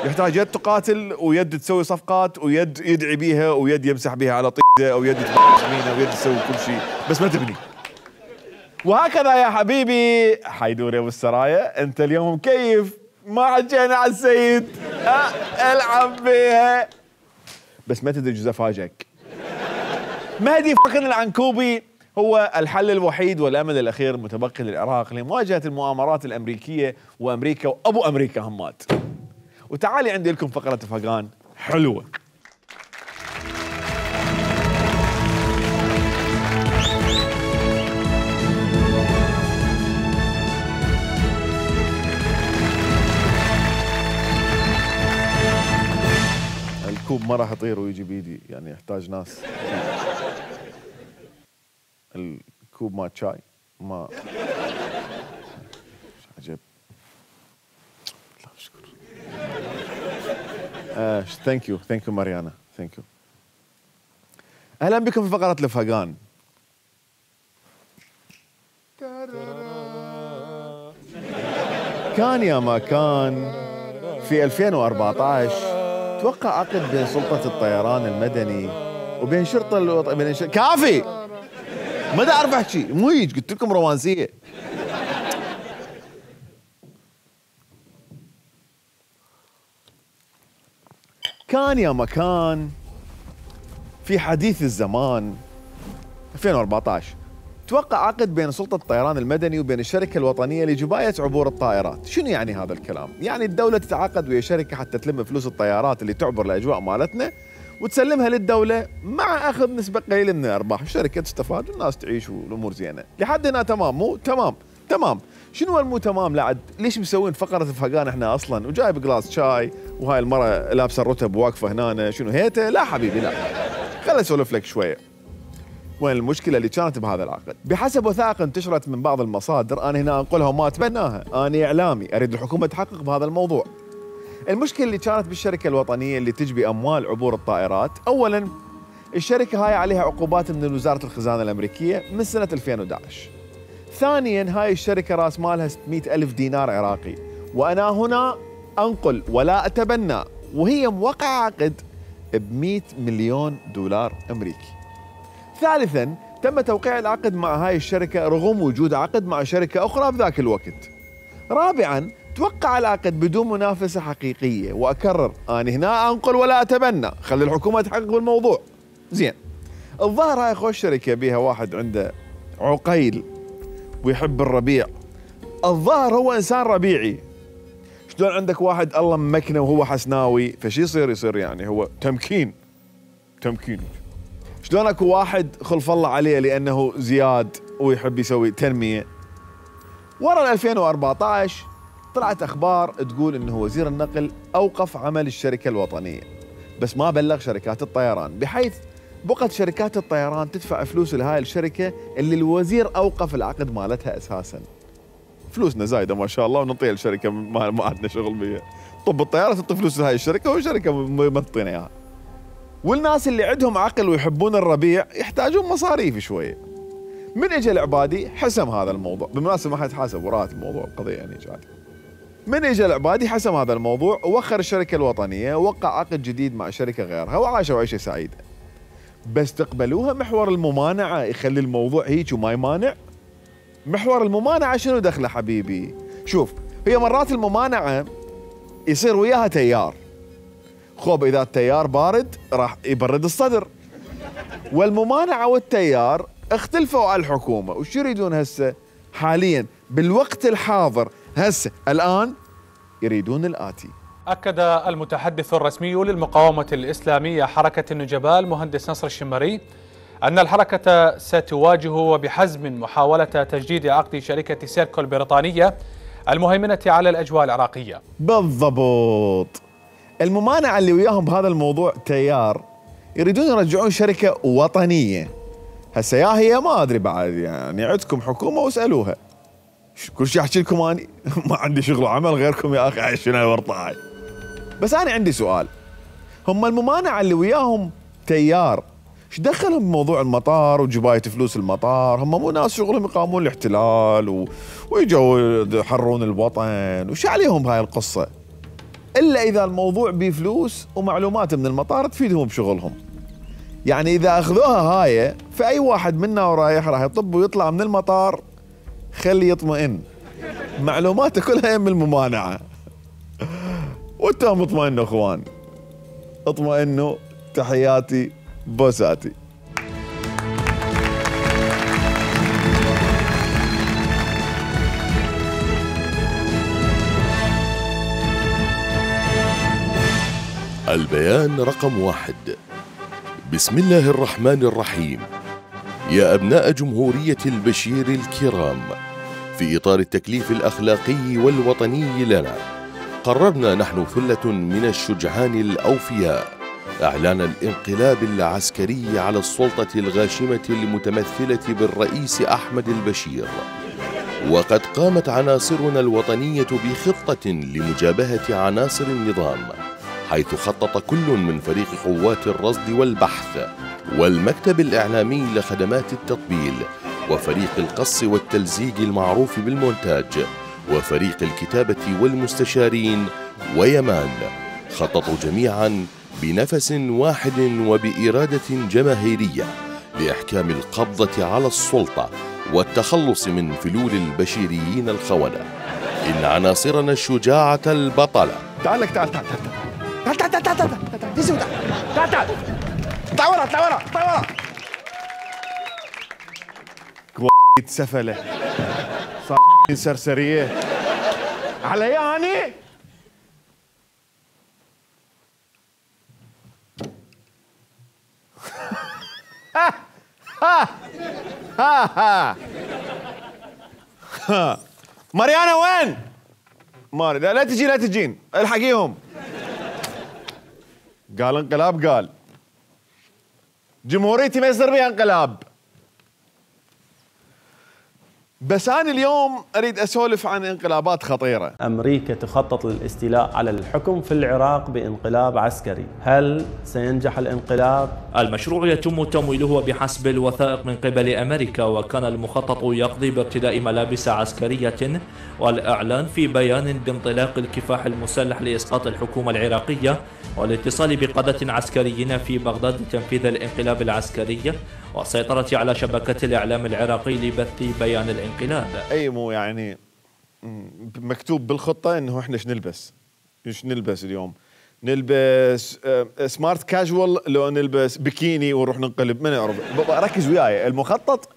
يحتاج يد تقاتل ويد تسوي صفقات ويد يدعي بيها ويد يمسح بيها على طيده أو يد تبنيها ويد تسوي كل شيء بس ما تبني. وهكذا يا حبيبي حيدور يا ابو السرايا، انت اليوم مكيف ما حكينا على السيد، العب بيها. بس ما تدري جزء فاجئك، مهدي العنكوبي هو الحل الوحيد والامل الاخير المتبقي للعراق لمواجهه المؤامرات الامريكيه وامريكا وابو امريكا همات. وتعالي عندي لكم فقره فقان حلوه. الكوب ما راح يطير ويجي بيدي، يعني يحتاج ناس. الكوب ما شاي ما عجب. لا اشكر. ثانك يو ماريانا، ثانك يو. اهلا بكم في فقرة الفقان. كان يا ما كان في 2014 توقع عقد بين سلطة الطيران المدني وبين شرطة كافي. ما دا اعرف احكي، مو هيك قلت لكم رومانسية. كان يا مكان في حديث الزمان 2014 توقع عقد بين سلطة الطيران المدني وبين الشركة الوطنية لجباية عبور الطائرات. شنو يعني هذا الكلام؟ يعني الدولة تتعاقد ويا شركة حتى تلم فلوس الطيارات اللي تعبر الأجواء مالتنا وتسلمها للدولة مع أخذ نسبة قليلة من الأرباح، الشركة تستفاد والناس تعيش والأمور زينة. لحد هنا تمام؟ مو تمام. شنو المو تمام لعد؟ ليش مسوين فقرة الفقان احنا أصلا وجايب جلاس شاي وهاي المرة لابسة الرتب واقفة هنا؟ شنو هيته؟ لا حبيبي لا، خليني أسولف لك شوية. وين المشكلة اللي كانت بهذا العقد؟ بحسب وثائق انتشرت من بعض المصادر، أنا هنا أنقلها وما أتبناها، أنا إعلامي أريد الحكومة تحقق بهذا الموضوع. المشكلة اللي كانت بالشركة الوطنية اللي تجبي أموال عبور الطائرات، أولاً الشركة هاي عليها عقوبات من وزارة الخزانة الأمريكية من سنة 2011. ثانياً هاي الشركة راس مالها 600,000 دينار عراقي، وأنا هنا أنقل ولا أتبنى، وهي موقعة عقد ب$100 مليون أمريكي. ثالثاً تم توقيع العقد مع هاي الشركة رغم وجود عقد مع شركة أخرى بذاك الوقت. رابعاً توقع العقد بدون منافسة حقيقية، وأكرر أنا هنا أنقل ولا أتبنى، خلي الحكومة تحقق بالموضوع. زين، الظاهر هاي خوش شركة بيها واحد عنده عقيل ويحب الربيع، الظاهر هو إنسان ربيعي. شلون عندك واحد الله ممكنه وهو حسناوي فشي يصير يعني هو تمكين. شلون اكو واحد خلف الله عليه لأنه زياد ويحب يسوي تنمية. ورا 2014 طلعت أخبار تقول إنه وزير النقل أوقف عمل الشركة الوطنية، بس ما بلغ شركات الطيران، بحيث بقت شركات الطيران تدفع فلوس لهاي الشركة اللي الوزير أوقف العقد مالتها أساساً. فلوسنا زايدة ما شاء الله ونعطيها الشركة ما عندنا شغل بيها. طب الطيارة تعطي فلوس لهاي الشركة والشركة ما تعطينا إياها. والناس اللي عندهم عقل ويحبون الربيع يحتاجون مصاريف شوية. من اجى العبادي حسم هذا الموضوع، بالمناسبة ما حد حاسب وراء الموضوع القضية يعني جاد. من اجى العبادي حسم هذا الموضوع ووخر الشركة الوطنية ووقع عقد جديد مع شركة غيرها وعاشوا عيشة سعيدة. بس تقبلوها محور الممانعة يخلي الموضوع هيك وما يمانع؟ محور الممانعة شنو دخله حبيبي؟ شوف هي مرات الممانعة يصير وياها تيار. خوب إذا التيار بارد راح يبرد الصدر. والممانعة والتيار اختلفوا على الحكومة، وش يريدون هسه؟ حاليا بالوقت الحاضر هسه الآن يريدون الآتي. أكد المتحدث الرسمي للمقاومة الإسلامية حركة النجباء المهندس نصر الشمري أن الحركة ستواجه بحزم محاولة تجديد عقد شركة سيركو البريطانية المهيمنة على الأجواء العراقية. بالضبط. الممانعة اللي وياهم بهذا الموضوع تيار يريدون يرجعون شركة وطنية. هسه يا هي ما أدري بعد يعني عندكم حكومة واسألوها. كل شيء أحكي لكم أني ما عندي شغل وعمل غيركم يا أخي عايشين الورطة هاي. بس أنا عندي سؤال، هم الممانعة اللي وياهم تيار ايش دخلهم بموضوع المطار وجباية فلوس المطار؟ هم مو ناس شغلهم يقاومون الاحتلال ويجوا يحررون الوطن، وش عليهم بهاي القصة؟ إلا إذا الموضوع بفلوس ومعلومات من المطار تفيدهم بشغلهم. يعني إذا أخذوها هاي فأي واحد منا ورايح راح يطب ويطلع من المطار خلي يطمئن، معلوماته كلها من الممانعة. وانتم اطمئنوا اخوان، اطمئنوا. تحياتي بوساتي. البيان رقم 1. بسم الله الرحمن الرحيم. يا أبناء جمهورية البشير الكرام، في إطار التكليف الأخلاقي والوطني لنا، قررنا نحن ثلة من الشجعان الأوفياء إعلان الانقلاب العسكري على السلطة الغاشمة المتمثلة بالرئيس أحمد البشير. وقد قامت عناصرنا الوطنية بخطة لمجابهة عناصر النظام، حيث خطط كل من فريق قوات الرصد والبحث والمكتب الإعلامي لخدمات التطبيل وفريق القص والتلزيق المعروف بالمونتاج وفريق الكتابة والمستشارين ويمان، خططوا جميعا بنفس واحد وبإرادة جماهيرية لإحكام القبضة على السلطة والتخلص من فلول البشيريين الخونة. إن عناصرنا الشجاعة البطلة. تعال لك تعال تعال تعال تعال تعال تعال تعال تعال تعال اطلع ورا اطلع ورا اطلع ورا. كويت سفلة صار سرسرية على يعني. ماريانا وين؟ ماري لا تجي لا تجين، الحقيهم. قال انقلاب، قال جمهوريتي ما يصير بيها انقلاب. بس أنا اليوم أريد أسولف عن انقلابات خطيرة. أمريكا تخطط للاستيلاء على الحكم في العراق بانقلاب عسكري، هل سينجح الانقلاب؟ المشروع يتم تمويله بحسب الوثائق من قبل أمريكا، وكان المخطط يقضي بارتداء ملابس عسكرية والإعلان في بيان بانطلاق الكفاح المسلح لإسقاط الحكومة العراقية والاتصال بقادة عسكريين في بغداد لتنفيذ الانقلاب العسكري والسيطرة على شبكة الإعلام العراقي لبث بيان الانقلاب. أي مو يعني مكتوب بالخطة إنه إحنا إيش نلبس اليوم؟ نلبس سمارت كاجوال لو نلبس بكيني ونروح ننقلب؟ ما نعرف. ركز وياي، المخطط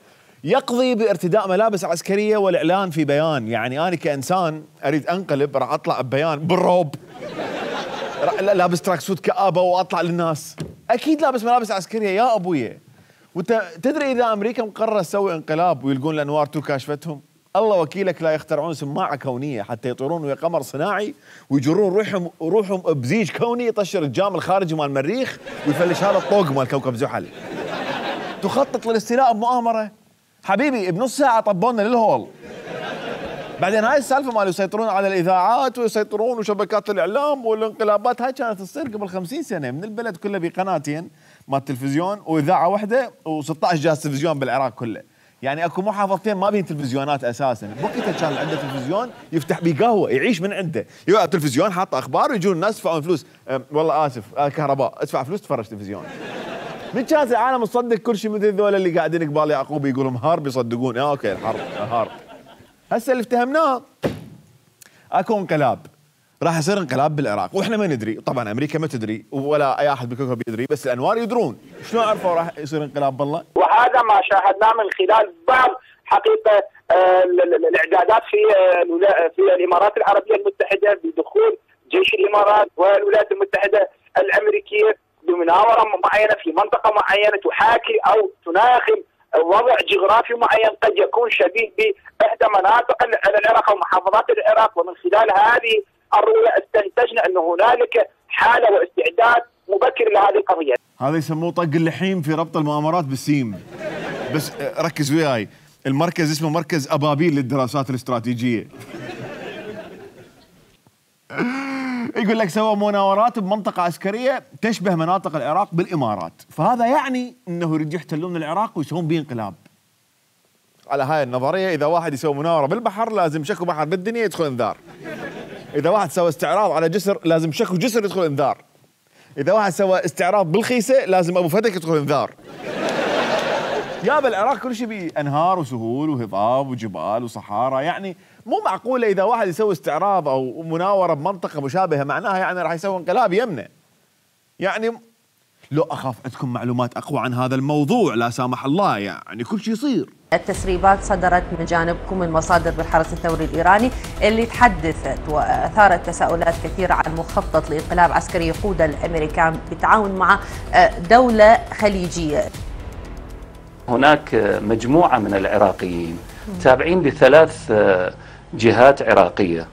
يقضي بارتداء ملابس عسكرية والإعلان في بيان. يعني أنا كإنسان أريد أنقلب راح أطلع ببيان بالروب، لابس تراك سوت كآبة وأطلع للناس. أكيد لابس ملابس عسكرية يا أبويا. وانت تدري اذا امريكا مقرره تسوي انقلاب ويلقون الانوار تو كاشفتهم، الله وكيلك لا يخترعون سماعه كونيه حتى يطيرون ويا قمر صناعي ويجرون روحهم بزيج كوني يطشر الجام الخارجي مال المريخ ويفلش هذا الطوق مال كوكب زحل. تخطط للاستيلاء بمؤامره. حبيبي بنص ساعه طبونا للهول. بعدين هاي السالفه مال يسيطرون على الاذاعات ويسيطرون وشبكات الاعلام والانقلابات، هاي كانت تصير قبل 50 سنه، من البلد كله بقناتين مال تلفزيون واذاعه واحده و16 جهاز تلفزيون بالعراق كله. يعني اكو محافظتين ما بين تلفزيونات اساسا، بوقتها كان عنده تلفزيون يفتح بيه قهوه يعيش من عنده، يقعد تلفزيون حاط اخبار ويجون الناس يدفعون فلوس، والله اسف كهرباء ادفع فلوس تفرج تلفزيون. من كان العالم تصدق كل شيء مثل ذول اللي قاعدين قبال يعقوب يقولون هارب يصدقون اوكي الحرب هارب. هسه اللي افتهمناه اكو انقلاب، راح يصير انقلاب بالعراق واحنا ما ندري، طبعا امريكا ما تدري ولا اي احد بالكوكب يدري، بس الانوار يدرون. شلون عرفوا راح يصير انقلاب بالله؟ وهذا ما شاهدناه من خلال بعض حقيقه الاعدادات في الامارات العربيه المتحده بدخول جيش الامارات والولايات المتحده الامريكيه بمناوره معينه في منطقه معينه تحاكي او تناغم وضع جغرافي معين قد يكون شبيه باحدى مناطق العراق او محافظات العراق، ومن خلال هذه الرؤيه استنتجنا ان هنالك حاله واستعداد مبكر لهذه القضيه. هذا يسموه طق اللحيم في ربط المؤامرات بالسيم. بس ركز وياي، المركز اسمه مركز ابابيل للدراسات الاستراتيجيه. يقول لك سوى مناورات بمنطقة عسكرية تشبه مناطق العراق بالإمارات، فهذا يعني أنه يريد يحتلون العراق ويسوون به انقلاب. على هاي النظرية إذا واحد يسوي مناورة بالبحر لازم شكو بحر بالدنيا يدخل انذار. إذا واحد سوى استعراض على جسر لازم شكو جسر يدخل انذار. إذا واحد سوى استعراض بالخيسة لازم أبو فتك يدخل انذار. يا بالعراق كل شيء بيه أنهار وسهول وهضاب وجبال وصحارى، يعني مو معقولة إذا واحد يسوي استعراض أو مناورة بمنطقة مشابهة معناها يعني راح يسوي انقلاب يمنه. يعني لو أخاف عندكم معلومات أقوى عن هذا الموضوع لا سامح الله، يعني كل شيء يصير. التسريبات صدرت من جانبكم من مصادر بالحرس الثوري الإيراني اللي تحدثت وأثارت تساؤلات كثيرة عن مخطط لإنقلاب عسكري يقوده الأمريكان بالتعاون مع دولة خليجية. هناك مجموعة من العراقيين تابعين لثلاث جهات عراقية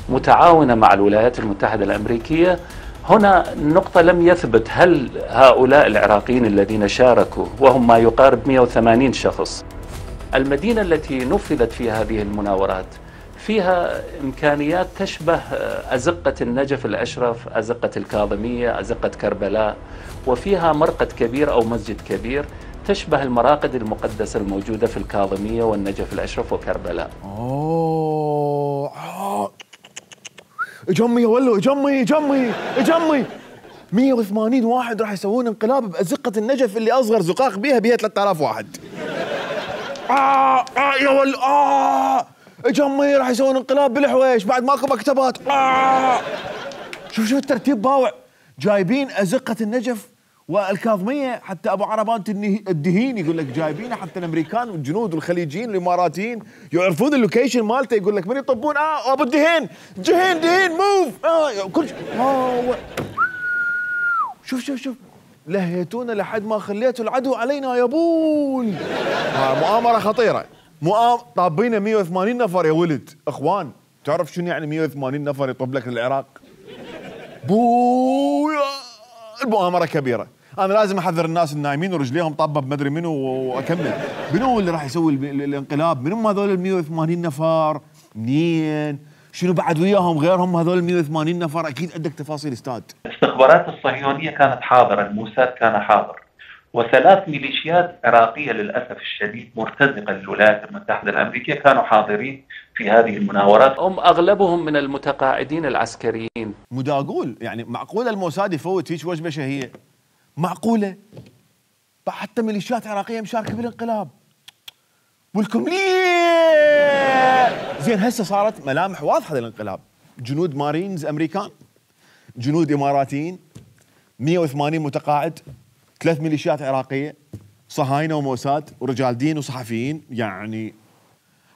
متعاونة مع الولايات المتحدة الأمريكية. هنا النقطة لم يثبت هل هؤلاء العراقيين الذين شاركوا وهم ما يقارب 180 شخص، المدينة التي نفذت فيها هذه المناورات فيها إمكانيات تشبه أزقة النجف الأشرف، أزقة الكاظمية، أزقة كربلاء، وفيها مرقد كبير أو مسجد كبير تشبه المراقد المقدسة الموجودة في الكاظمية والنجف الأشرف وكربلاء. جمي ولو جمي 180 واحد راح يسوون انقلاب بأزقة النجف اللي أصغر زقاق بيها 3000 واحد. يا ولو جمي راح يسوون انقلاب بالحويش بعد ماكو مكتبات. شوف الترتيب باوع، جايبين أزقة النجف والكاظمية، حتى أبو عربان الدهين يقول لك جايبينه، حتى الأمريكان والجنود والخليجيين والإماراتيين يعرفون اللوكيشن مالته، يقول لك من يطبون أبو الدهين دهين موف كل شوف لهيتونا لحد ما خليتوا العدو علينا يا بول. مؤامرة خطيرة، طابينا 180 نفر يا ولد. اخوان تعرف شنو يعني 180 نفر يطب لك للعراق؟ بويا المؤامرة كبيرة. انا لازم احذر الناس النايمين ورجليهم طابة بمدري منو واكمل. منو اللي راح يسوي الانقلاب؟ منو هذول ال 180 نفر؟ منين؟ شنو بعد وياهم غيرهم هذول ال 180 نفر؟ اكيد عندك تفاصيل استاذ. الاستخبارات الصهيونية كانت حاضرة، الموساد كان حاضر، وثلاث ميليشيات عراقية للأسف الشديد مرتزقة للولايات المتحدة الأمريكية كانوا حاضرين في هذه المناورات. هم أغلبهم من المتقاعدين العسكريين. مداقول يعني معقولة الموساد يفوت هيك وجبة شهية؟ معقولة؟ حتى ميليشيات عراقية مشاركة بالانقلاب. ولكم ليه؟ زين هسه صارت ملامح واضحة للانقلاب، جنود مارينز أمريكان، جنود إماراتيين، 180 متقاعد، 3 ميليشيات عراقية، صهاينة وموساد ورجال دين وصحفيين، يعني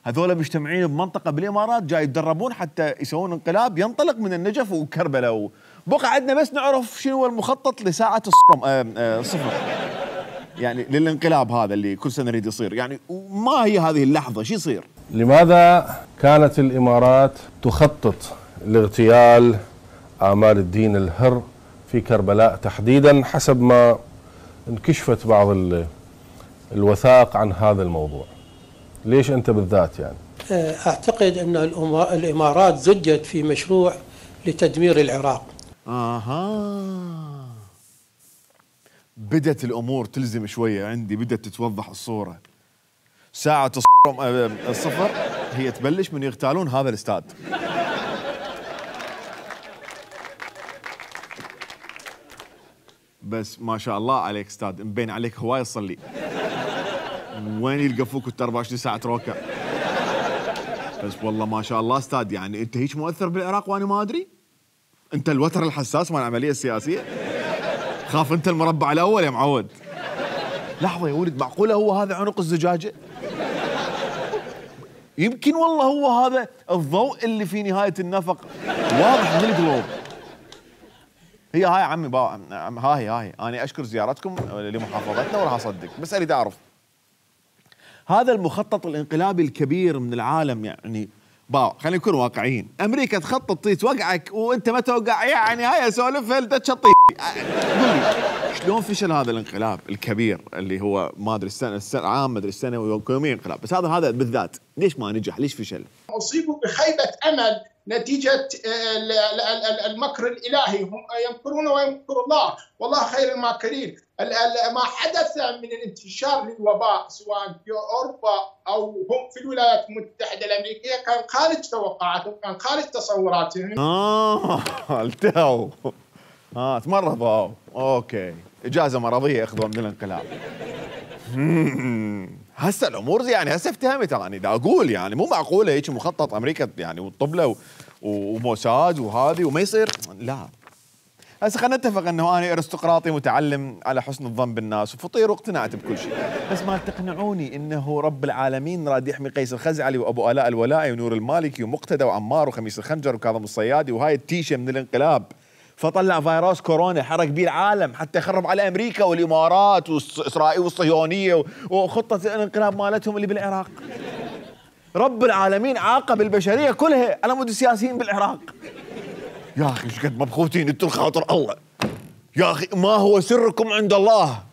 هذول مجتمعين بمنطقة بالإمارات جاي يتدربون حتى يسوون انقلاب ينطلق من النجف وكربلاء. بقى عندنا بس نعرف شنو هو المخطط لساعة الصفر يعني للانقلاب هذا اللي كل سنة يريد يصير، يعني ما هي هذه اللحظة شو يصير؟ لماذا كانت الإمارات تخطط لاغتيال آمال الدين الهر في كربلاء تحديدا حسب ما انكشفت بعض الوثائق عن هذا الموضوع؟ ليش أنت بالذات يعني؟ أعتقد أن الإمارات زجت في مشروع لتدمير العراق. بدت الأمور تلزم شوية عندي، بدت تتوضح الصورة. ساعة الصفر هي تبلش من يغتالون هذا الاستاد. بس ما شاء الله عليك استاذ، مبين عليك هواي تصلي. وين يلقفوك وانت 24 ساعة تروكع؟ بس والله ما شاء الله استاذ، يعني انت هيك مؤثر بالعراق وانا ما ادري؟ انت الوتر الحساس مال العملية السياسية؟ خاف انت المربع الاول يا معود. لحظة يا ولد، معقولة هو هذا عنق الزجاجة؟ يمكن والله هو هذا الضوء اللي في نهاية النفق، واضح من القلوب. هي هاي عمي هاي انا اشكر زيارتكم لمحافظتنا وراح اصدق، بس اريد اعرف هذا المخطط الانقلابي الكبير من العالم، يعني خلينا نكون واقعيين، امريكا تخطط توقعك وانت ما توقع، يعني هاي سولف هل تشطي. قول لي شلون فشل هذا الانقلاب الكبير اللي هو ما ادري السنه عام ما ادري السنه ويوميا انقلاب، بس هذا بالذات ليش ما نجح؟ ليش فشل؟ اصيبوا بخيبه امل نتيجه المكر الالهي، هم يمكرون ويمكر الله والله خير الماكرين. ما حدث من الانتشار للوباء سواء في اوروبا او هم في الولايات المتحده الامريكيه كان خارج توقعاتهم، كان خارج تصوراتهم. التهوا تمرضوا، اوكي، اجازه مرضيه اخذوها من الانقلاب. هسه الامور يعني هسه افتهمت، يعني دا اقول يعني مو معقوله هيك مخطط امريكا يعني والطبله وموساد وهذه وما يصير، لا. هسه خلينا نتفق انه انا ارستقراطي متعلم على حسن الظن بالناس وفطير واقتنعت بكل شيء، بس ما تقنعوني انه رب العالمين راد يحمي قيس الخزعلي وابو الاء الولائي ونور المالكي ومقتدى وعمار وخميس الخنجر وكاظم الصيادي وهاي التيشه من الانقلاب، فطلع فيروس كورونا حرق بيه العالم حتى يخرب على امريكا والامارات واسرائيل والصهيونيه وخطه الانقلاب مالتهم اللي بالعراق. رب العالمين عاقب البشريه كلها على مود السياسيين بالعراق. يا اخي ايش قد مبخوتين انتم خاطر الله. يا اخي ما هو سركم عند الله.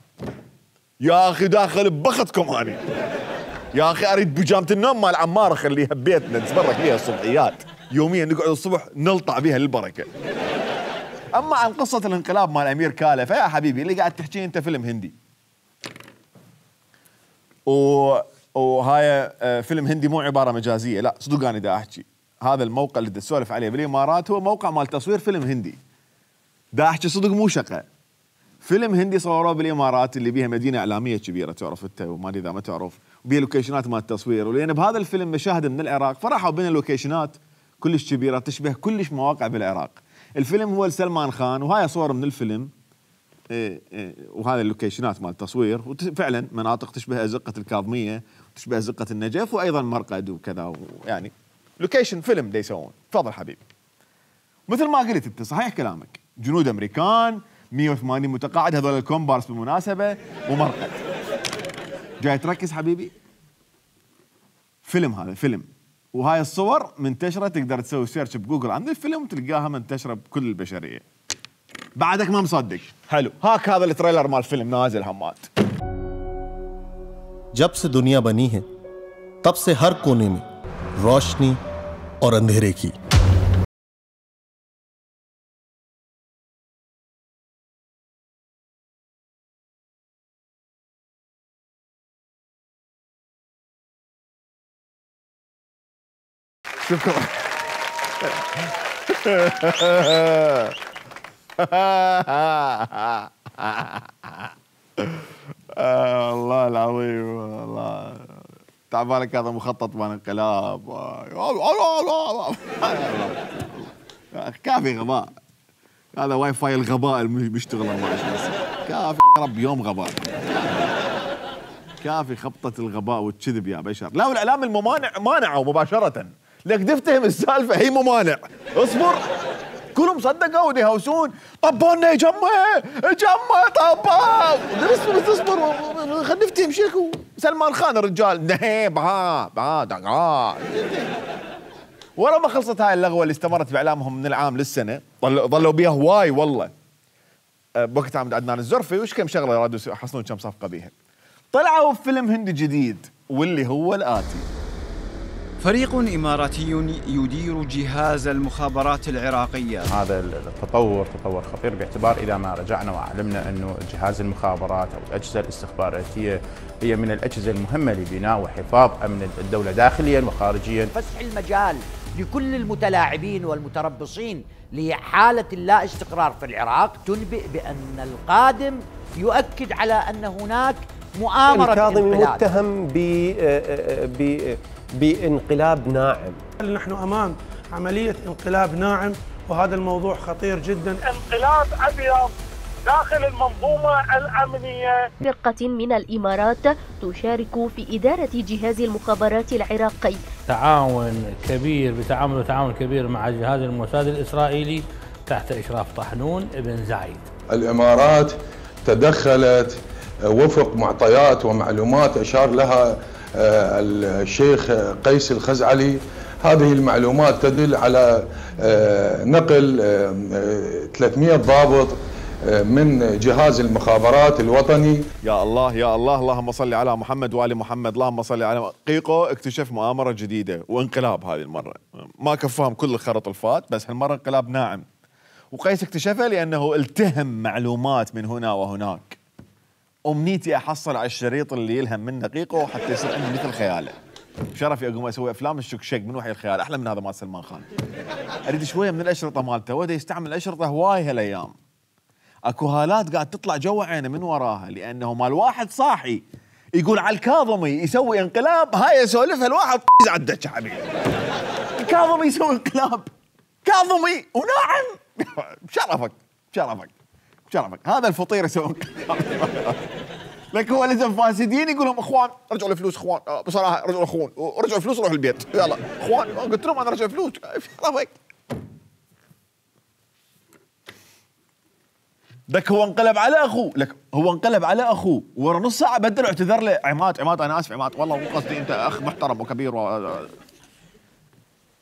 يا اخي داخل ببختكم اني. يا اخي اريد بيجامه النوم مال عمار اخليها ببيتنا نتبرك فيها الصبحيات، يوميا نقعد الصبح نلطع بها للبركه. اما عن قصه الانقلاب مال امير كاله فيا حبيبي اللي قاعد تحكيه انت فيلم هندي. وهاي فيلم هندي مو عباره مجازيه، لا صدق انا دا احكي هذا الموقع اللي تسولف عليه بالامارات هو موقع مال تصوير فيلم هندي. دا احكي صدق مو شقه. فيلم هندي صوروه بالامارات اللي بيها مدينه اعلاميه كبيره تعرف انت وما ادري اذا ما تعرف، وبيها لوكيشنات مال التصوير، ولان بهذا الفيلم مشاهد من العراق فراحوا بين اللوكيشنات كلش كبيره تشبه كلش مواقع بالعراق. الفيلم هو لسلمان خان وهاي صور من الفيلم وهذا اللوكيشنات مال التصوير، وفعلا مناطق تشبه ازقه الكاظميه وتشبه ازقه النجف وايضا مرقد وكذا، يعني لوكيشن فيلم دا يسوون. تفضل حبيبي. مثل ما قلت انت صحيح كلامك، جنود امريكان 180 متقاعد، هذول الكومبارس بالمناسبه ومرقد. جاي تركز حبيبي؟ فيلم، هذا فيلم، وهاي الصور منتشره تقدر تسوي سيرش بجوجل عن الفيلم وتلقاها منتشره بكل البشريه. بعدك ما مصدق؟ حلو، هاك هذا التريلر مال الفيلم نازل همات. जब से दुनिया बनी है तब से हर कोने में रोशनी और अंधेरे की شكرا. والله العظيم والله تعبالك هذا مخطط مال انقلاب. كافي غباء، هذا واي فاي الغباء اللي بيشتغل 24 ساعة. كافي رب يوم غباء، كافي خبطة الغباء والكذب يا بشر. لا والاعلام الممانع مانعوا مباشرة، لك تفتهم السالفة هي ممانع. اصبر كلهم صدقوا وديهوسون، طبونا يجمع طبوا. بس اصبر خلينا نفتهم شكو سلمان خان الرجال نهيب ورا ما خلصت هاي اللغوه اللي استمرت باعلامهم من العام للسنه، ظلوا بيها هواي والله. بوقت عمد عدنان الزرفي وش كم شغله رادوا يحصلون كم صفقه بيها. طلعوا بفيلم هندي جديد واللي هو الآتي. فريق إماراتي يدير جهاز المخابرات العراقية. هذا التطور تطور خطير، باعتبار إذا ما رجعنا وعلمنا أنه جهاز المخابرات أو الأجهزة الاستخباراتية هي من الأجهزة المهمة لبناء وحفاظ أمن الدولة داخليا وخارجيا. فسح المجال لكل المتلاعبين والمتربصين لحالة اللا استقرار في العراق تنبئ بأن القادم يؤكد على أن هناك مؤامرة الكاظمي متهم بانقلاب ناعم. نحن أمام عملية انقلاب ناعم، وهذا الموضوع خطير جدا. انقلاب أبيض داخل المنظومة الأمنية. فرقة من الإمارات تشارك في إدارة جهاز المخابرات العراقي. تعاون كبير تعاون كبير مع جهاز الموساد الإسرائيلي تحت إشراف طحنون ابن زايد. الإمارات تدخلت وفق معطيات ومعلومات أشار لها الشيخ قيس الخزعلي. هذه المعلومات تدل على نقل 300 ضابط من جهاز المخابرات الوطني. يا الله يا الله، اللهم صل على محمد وآل محمد، اللهم صل على قيقو. اكتشف مؤامرة جديدة وانقلاب هذه المرة، ما كفاهم كل الخرط الفات، بس هالمرة انقلاب ناعم. وقيس اكتشفه لأنه التهم معلومات من هنا وهناك. أمنيتي أحصل على الشريط اللي يلهم منه قيقو حتى يصير عندي مثل خياله. شرفي أقوم أسوي أفلام الشكشك من وحي الخيال أحلى من هذا مال سلمان خان. أريد شوية من الأشرطة مالته، وده يستعمل الأشرطة هواي هالأيام. اكو هالات قاعد تطلع جوا عينه من وراها، لانه مال واحد صاحي يقول على الكاظمي يسوي انقلاب، هاي يسولفها الواحد على الدش حبيبي. الكاظمي يسوي انقلاب، كاظمي وناعم. بشرفك بشرفك بشرفك، هذا الفطير يسوي انقلاب. لك هو لازم فاسدين يقول لهم اخوان رجعوا الفلوس، اخوان بصراحه رجعوا اخوان، رجعوا الفلوس روحوا البيت، يلا اخوان قلت لهم انا رجع فلوس. بشرفك. لك هو انقلب على اخوه، لك هو انقلب على اخوه ورا نص ساعه بدل واعتذر له. عماد انا اسف عماد، والله مو قصدي، انت اخ محترم وكبير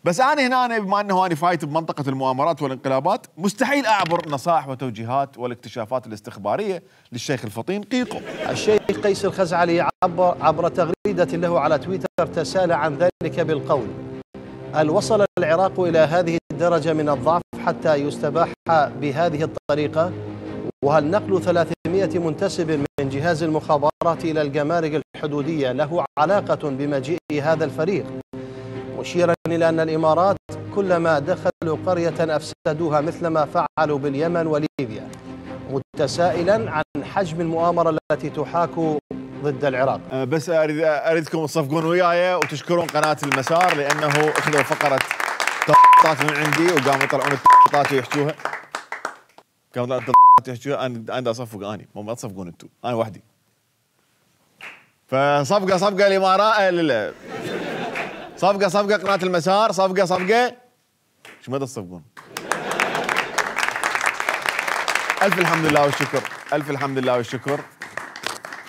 بس انا هنا بما انه انا فايت بمنطقه المؤامرات والانقلابات، مستحيل اعبر نصائح وتوجيهات والاكتشافات الاستخباريه للشيخ الفطين قيقو. الشيخ قيس الخزعلي عبر تغريده له على تويتر تساءل عن ذلك بالقول: هل وصل العراق الى هذه الدرجه من الضعف حتى يستباح بهذه الطريقه؟ وهل نقل 300 منتسب من جهاز المخابرات إلى الجمارك الحدودية له علاقة بمجيء هذا الفريق؟ مشيرا إلى أن الإمارات كلما دخلوا قرية أفسدوها مثلما فعلوا باليمن وليبيا، متسائلا عن حجم المؤامرة التي تحاك ضد العراق. بس أريدكم تصفقون وياي وتشكرون قناة المسار، لأنه أخذوا فقرة تطاط من عندي وقاموا يطلعون التطاط ويحشوها. كانوا تحكوا انا اصفق، اني ما تصفقون انتم، انا وحدي. فصفقه الامارات، صفقه قناه المسار، صفقه شو مدى تصفقون؟ الف الحمد لله والشكر، الف الحمد لله والشكر.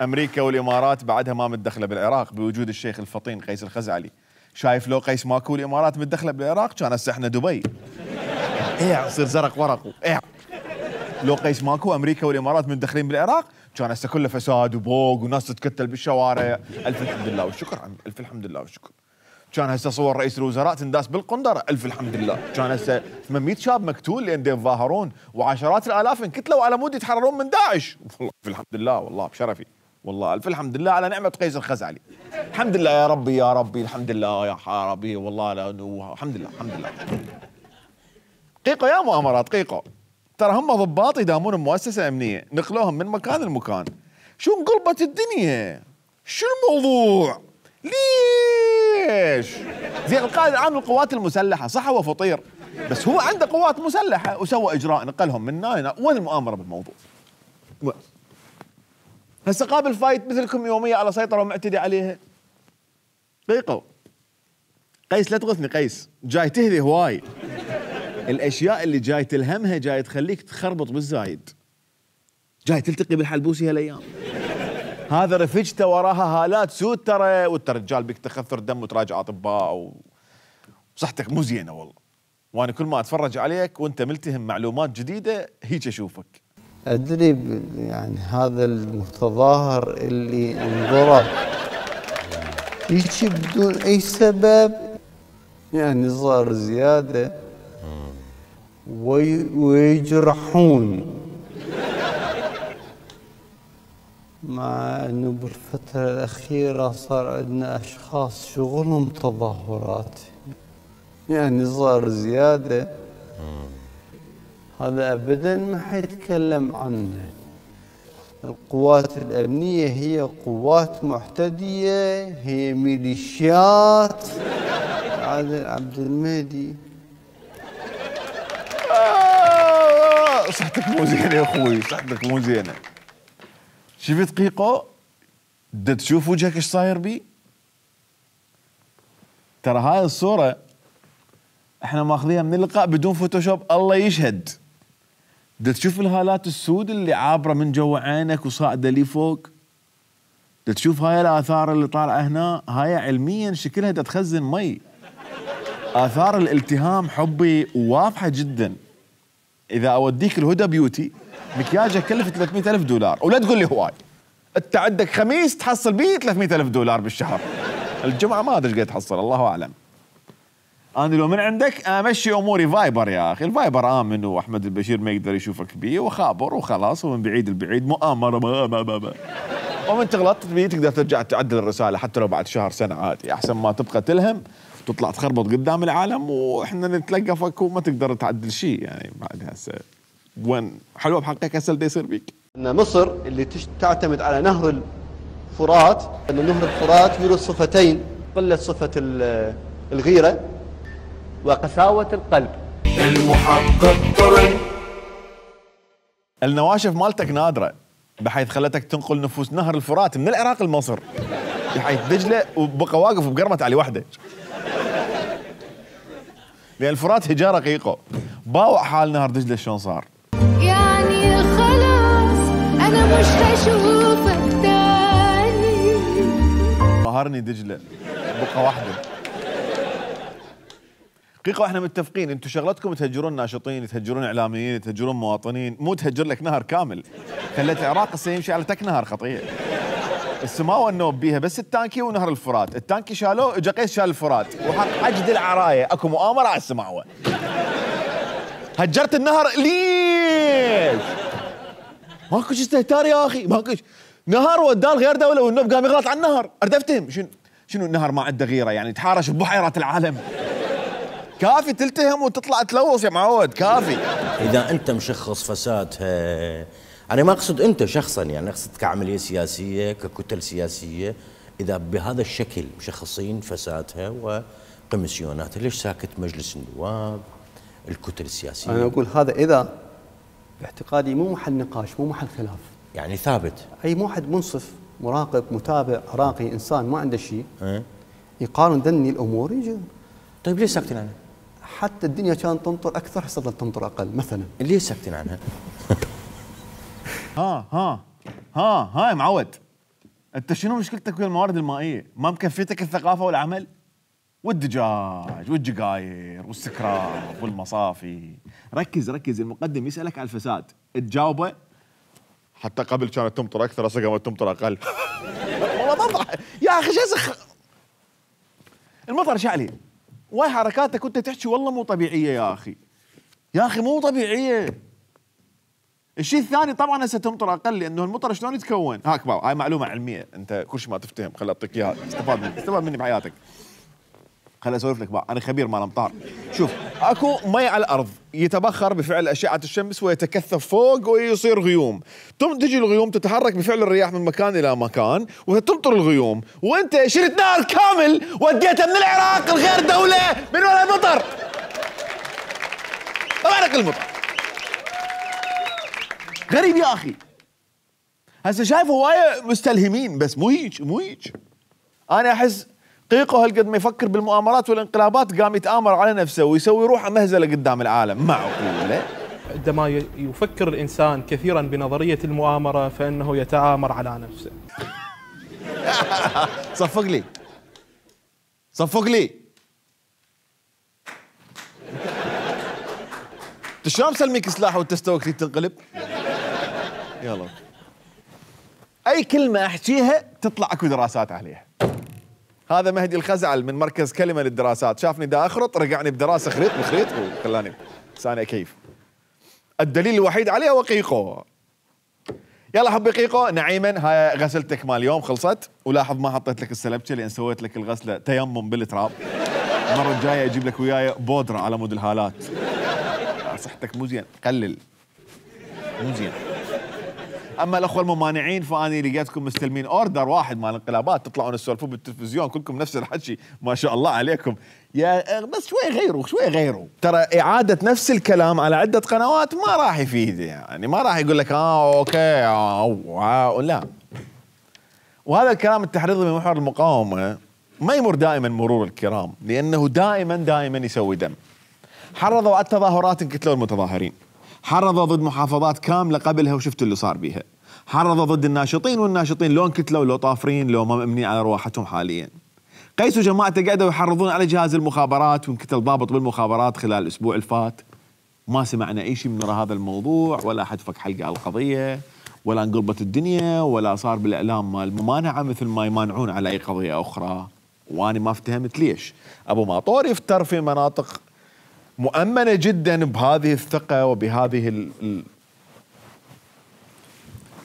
امريكا والامارات بعدها ما متدخله بالعراق بوجود الشيخ الفطين قيس الخزعلي. شايف لو قيس ماكو والامارات متدخله بالعراق كان هسه احنا دبي. يصير زرق ورق لو قيس ماكو امريكا والامارات متدخلين بالعراق كان هسه كله فساد وبوق وناس تتكتل بالشوارع. الف الحمد لله والشكر عمي، الف الحمد لله والشكر. كان هسه صور رئيس الوزراء تنداس بالقنطره، الف الحمد لله. كان هسه 800 شاب مقتول لان يتظاهرون، وعشرات الالاف انكتلوا على مود يتحررون من داعش. والله الف الحمد لله، والله بشرفي، والله الف الحمد لله على نعمه قيس الخزعلي. الحمد لله يا ربي يا ربي، الحمد لله يا ربي، والله الحمد لله الحمد لله. قيقو يا مؤامرات قيقو، ترى هم ضباط يدامون بمؤسسة أمنية، نقلوهم من مكان لمكان. شو انقلبت الدنيا؟ شو الموضوع؟ ليش؟ زين القائد العام للقوات المسلحة صح هو فطير، بس هو عنده قوات مسلحة وسوى إجراء نقلهم من هنا. وين المؤامرة بالموضوع؟ هسه قابل فايت مثلكم يومية على سيطرة ومعتدي عليها. قيقو قيس لا تغثني قيس، جاي تهذي هواي. الاشياء اللي جاي تلهمها جاي تخليك تخربط بالزايد، جاي تلتقي بالحلبوسي هالايام. هذا رفجته وراها هالات سود ترى، وانت رجال بك تخثر دم وتراجع اطباء وصحتك مو زينه والله. وانا كل ما اتفرج عليك وانت ملتهم معلومات جديده هيك اشوفك. أدري يعني هذا المتظاهر اللي انضرب هيك بدون أي سبب، يعني صار زيادة ويجرحون، مع أنه بالفترة الأخيرة صار عندنا أشخاص شغلهم تظاهرات، يعني صار زيادة. هذا أبدا ما حيتكلم عنه. القوات الأمنية هي قوات معتدية، هي ميليشيات. عادل عبد المهدي صحتك مو زينة يا أخوي، صحتك مو زينة. شفت قيقو؟ دا تشوف وجهك ايش صاير بي؟ ترى هاي الصورة احنا ماخذيها من اللقاء بدون فوتوشوب، الله يشهد. دا تشوف الهالات السود اللي عابرة من جوا عينك وصاعدة لي فوق؟ دا تشوف هاي الآثار اللي طالعة هنا؟ هاي علميا شكلها دا تخزن مي. آثار الالتهام حبي واضحة جدا. إذا أوديك الهدى بيوتي مكياجه كلف $300,000 ولا تقول لي هواي. أنت عندك خميس تحصل بيه $300,000 بالشهر. الجمعة ما أدري ايش قاعد تحصل، الله أعلم. أنا لو من عندك أمشي أموري فايبر يا أخي، الفايبر آمن وأحمد البشير ما يقدر يشوفك بيه وخابر وخلاص، ومن بعيد البعيد مؤامرة ومن تغلطت بيه تقدر ترجع تعدل الرسالة حتى لو بعد شهر سنة عادي، أحسن ما تبقى تلهم وتطلع تخربط قدام العالم وإحنا نتلقفك وما تقدر تعدل شيء. يعني بعد هسه وين حلوة بحقك هسه اللي يصير بيك؟ أن مصر اللي تعتمد على نهر الفرات، أن نهر الفرات يورث صفتين: قلة صفة الغيرة وقساوة القلب. المحقق طرن. النواشف مالتك نادرة بحيث خلتك تنقل نفوس نهر الفرات من العراق لمصر، بحيث دجلة وبقى واقف بقرمة علي وحدة. لأن الفرات هجارة قيقو. باوع حال نهر دجلة شلون صار؟ يعني خلاص أنا مش هشوفك تاني. قهرني دجلة بقى واحدة. قيقو احنا متفقين انتم شغلتكم تهجرون ناشطين، تهجرون اعلاميين، تهجرون مواطنين، مو تهجر لك نهر كامل. خليت العراق هسه يمشي على تك نهر خطيه. السماوه النوب بيها بس التانكي ونهر الفرات، التانكي شالوه اجا قيس شال الفرات وحق عجد العرايه، اكو مؤامره على السماوه. هجرت النهر ليش؟ ماكو استهتار يا اخي، ماكو نهر وداه غير دوله والنوب قام يغلط على النهر، اريد افتهم شنو النهر ما عنده غيره يعني يتحارش ببحيرات العالم؟ كافي تلتهم وتطلع تلوث يا معود، كافي. اذا انت مشخص فسادها، انا ما اقصد انت شخصا، يعني اقصد كعمليه سياسيه ككتل سياسيه، اذا بهذا الشكل مشخصين فسادها وكوميسيوناتها، ليش ساكت مجلس النواب، الكتل السياسيه؟ انا اقول هذا اذا باعتقادي مو محل نقاش، مو محل خلاف، يعني ثابت. اي واحد منصف مراقب متابع عراقي انسان ما عنده شيء يقارن ذني الامور يجي. طيب ليش ساكتين عنها؟ حتى الدنيا كانت تمطر اكثر هسه ظلت تمطر اقل مثلا. ليش ساكتين عنها؟ ها يا معود، انت شنو مشكلتك ويا الموارد المائيه؟ ما مكفيتك الثقافه والعمل؟ والدجاج والجقاير والسكراب والمصافي. ركز المقدم يسالك على الفساد تجاوبه. حتى قبل كانت تمطر اكثر هسه قامت تمطر اقل. والله مضح يا اخي، شو المطر شعلي واي حركاتك وانت تحكي والله مو طبيعيه يا اخي، يا اخي مو طبيعيه. الشيء الثاني طبعا هسه تمطر اقل لانه المطر شلون يتكون؟ هاك باو، هاي معلومه علميه، انت كل شيء ما تفتهم خل اعطيك اياها، استفاد مني بحياتك. خل اسولف لك بقى، انا خبير مال امطار. شوف، اكو مي على الارض يتبخر بفعل اشعه الشمس ويتكثف فوق ويصير غيوم، تجي الغيوم تتحرك بفعل الرياح من مكان الى مكان وتمطر الغيوم، وانت شريت نهر كامل وديته من العراق لغير دوله من ولا مطر. ما معنى المطر؟ غريب يا اخي. هسه شايف هوايه مستلهمين بس مو هيك. انا احس قيقو هالقد ما يفكر بالمؤامرات والانقلابات قام يتآمر على نفسه ويسوي روحه مهزله قدام العالم. معقوله؟ عندما يفكر الانسان كثيرا بنظريه المؤامره فانه يتآمر على نفسه. صفق لي. شلون مسلميك سلاح وانت استوى تريد تنقلب؟ يلا اي كلمه احكيها تطلع اكو دراسات عليها. هذا مهدي الخزعل من مركز كلمه للدراسات، شافني دا اخرط رجعني بدراسه خريط بخريط وخلاني ثاني كيف. الدليل الوحيد عليه هو قيقو. يلا حبي قيقو. نعيما هاي غسلتك مال اليوم خلصت، ولاحظ ما حطيت لك السلبشه لان سويت لك الغسله تيمم بالتراب. المره الجايه اجيب لك وياي بودره على مود الهالات. صحتك مو زين، قلل مو زين. اما الاخوه الممانعين فاني لقيتكم مستلمين اوردر واحد مال انقلابات، تطلعون تسولفون بالتلفزيون كلكم نفس الحكي، ما شاء الله عليكم. يا بس شوي غيروا شوي غيروا. ترى اعاده نفس الكلام على عده قنوات ما راح يفيد، يعني ما راح يقول لك اوكي لا. وهذا الكلام التحريضي من محور المقاومه ما يمر دائما مرور الكرام، لانه دائما يسوي دم. حرضوا على التظاهرات انقتلوا المتظاهرين، حرضوا ضد محافظات كامله قبلها وشفتوا اللي صار بيها، حرضوا ضد الناشطين والناشطين لو انقتلوا لو طافرين لو ما مأمنين على رواحتهم حاليا. قيس وجماعته قعدوا يحرضون على جهاز المخابرات وانقتل ضابط بالمخابرات خلال الاسبوع الفات. ما سمعنا اي شيء من هذا الموضوع، ولا احد فك حلقه على القضيه، ولا انقلبت الدنيا، ولا صار بالاعلام مال الممانعه مثل ما يمانعون على اي قضيه اخرى. وانا ما افتهمت ليش ابو ماطور يفتر في مناطق مؤمنه جدا بهذه الثقه وبهذه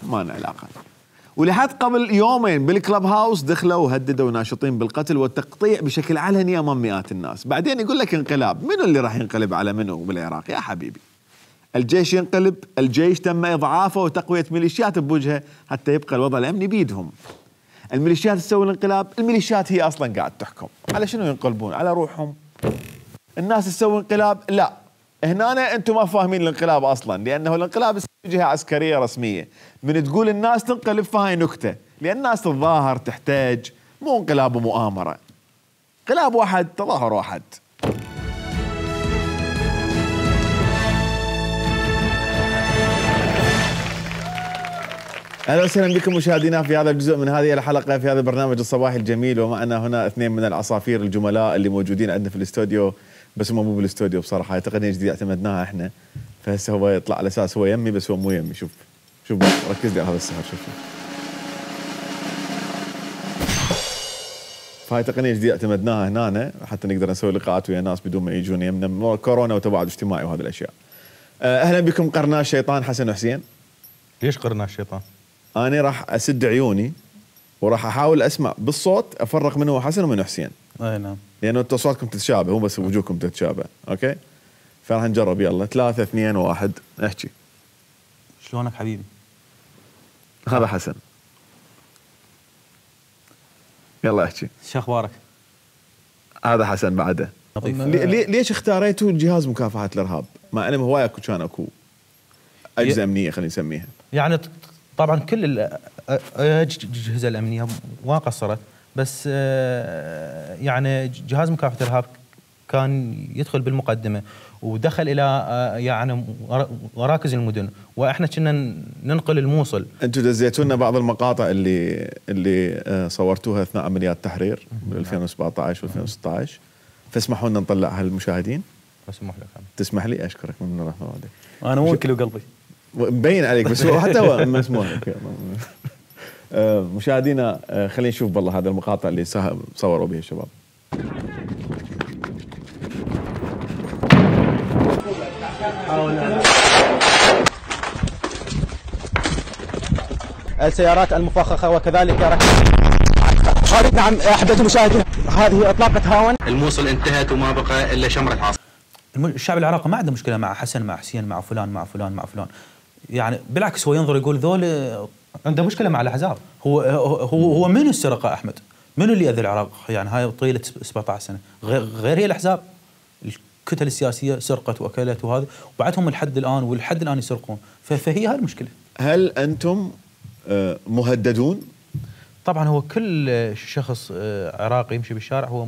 ما لنا علاقه. ولحد قبل يومين بالكلب هاوس دخلوا وهددوا ناشطين بالقتل والتقطيع بشكل علني امام مئات الناس. بعدين يقول لك انقلاب، منو اللي راح ينقلب على منو بالعراق يا حبيبي؟ الجيش ينقلب، الجيش تم اضعافه وتقويه ميليشيات بوجهه حتى يبقى الوضع الامني بيدهم. الميليشيات تسوي الانقلاب، الميليشيات هي اصلا قاعد تحكم، على شنو ينقلبون؟ على روحهم. الناس تسوي انقلاب، لا هنا انتم ما فاهمين الانقلاب اصلا، لانه الانقلاب جهه عسكريه رسميه، من تقول الناس تنقلب فهاي نكته، لان الناس تتظاهر تحتاج، مو انقلاب ومؤامره. انقلاب واحد، تظاهر واحد. اهلا وسهلا بكم مشاهدينا في هذا الجزء من هذه الحلقه في هذا البرنامج الصباحي الجميل، ومعنا هنا اثنين من العصافير الجملاء اللي موجودين عندنا في الاستوديو، بس هم مو بالاستوديو بصراحه، هاي تقنيه جديده اعتمدناها احنا، فهسه هو يطلع على اساس هو يمي بس هو مو يمي. شوف ركز لي على هذا السهر. شوف فهاي تقنيه جديده اعتمدناها هنا حتى نقدر نسوي لقاءات ويا ناس بدون ما يجون يمنا، كورونا وتباعد اجتماعي وهذه الاشياء. اهلا بكم قرناء الشيطان حسن وحسين. ليش قرناء الشيطان؟ أنا راح أسد عيوني وراح أحاول أسمع بالصوت أفرق منه حسن ومنه حسين. أي نعم. لأنه أنتوا أصواتكم تتشابه، مو بس وجوهكم تتشابه، أوكي؟ فراح نجرب. يلا 3 2 1 احكي. شلونك حبيبي؟ هذا حسن. يلا احكي. شو أخبارك؟ هذا حسن بعده. ليش اختاريتوا جهاز مكافحة الإرهاب؟ مع أنه هواية كان أكو أجهزة أمنية خلينا نسميها. يعني طبعا كل الأجهزة الأمنية ما قصرت، بس يعني جهاز مكافحة الإرهاب كان يدخل بالمقدمة ودخل إلى يعني مراكز المدن، وإحنا كنا ننقل الموصل. أنتم دزيتوا لنا بعض المقاطع اللي صورتوها أثناء عمليات تحرير بال 2017 و 2016، فاسمحوا لنا نطلعها للمشاهدين. أسمح لك. تسمح لي؟ أشكرك من رحمة والديك. أنا موكل وقلبي مبين عليك، بس هو حتى هو مسموح لك. مشاهدينا خلينا نشوف بالله هذا المقاطع اللي صوروا به الشباب. السيارات المفخخة وكذلك نعم أحبة المشاهدين، هذه إطلاقة هاون. الموصل انتهت وما بقى إلا شمرة عاصفة. الشعب العراقي ما عنده مشكلة مع حسن مع حسين مع فلان مع فلان مع فلان، يعني بالعكس هو ينظر يقول ذول عنده مشكلة مع الأحزاب. هو منو السرقة أحمد؟ منو اللي أذى العراق؟ يعني هاي طيلة 17 سنة غير هي الأحزاب. الكتل السياسية سرقت وأكلت وهذا، وبعدهم الحد الآن والحد الآن يسرقون، فهي هاي المشكلة. هل أنتم مهددون؟ طبعا هو كل شخص عراقي يمشي بالشارع هو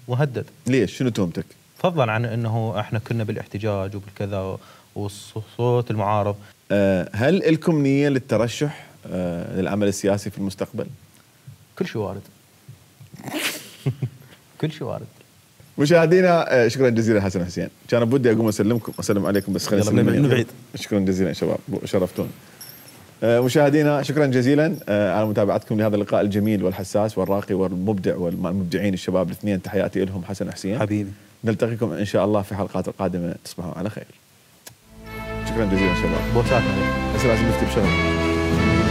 مهدد. ليش؟ شنو تهمتك؟ فضلا عن أنه احنا كنا بالاحتجاج وبالكذا وصوت المعارض. هل لكم نية للترشح للعمل السياسي في المستقبل؟ كل شيء وارد. كل شيء وارد. مشاهدينا شكرا جزيلا حسن حسين، كان بدي اقوم اسلم عليكم بس خلينا نسلم من بعيد. شكرا جزيلا يا شباب، شرفتون. مشاهدينا شكرا جزيلا على متابعتكم لهذا اللقاء الجميل والحساس والراقي والمبدع والمبدعين الشباب الاثنين. تحياتي لهم حسن وحسين حبيبي. نلتقيكم ان شاء الله في حلقات القادمه. تصبحوا على خير. شكرا جزيلا شباب. بوساتنا. هسه لازم نفتي بشغل.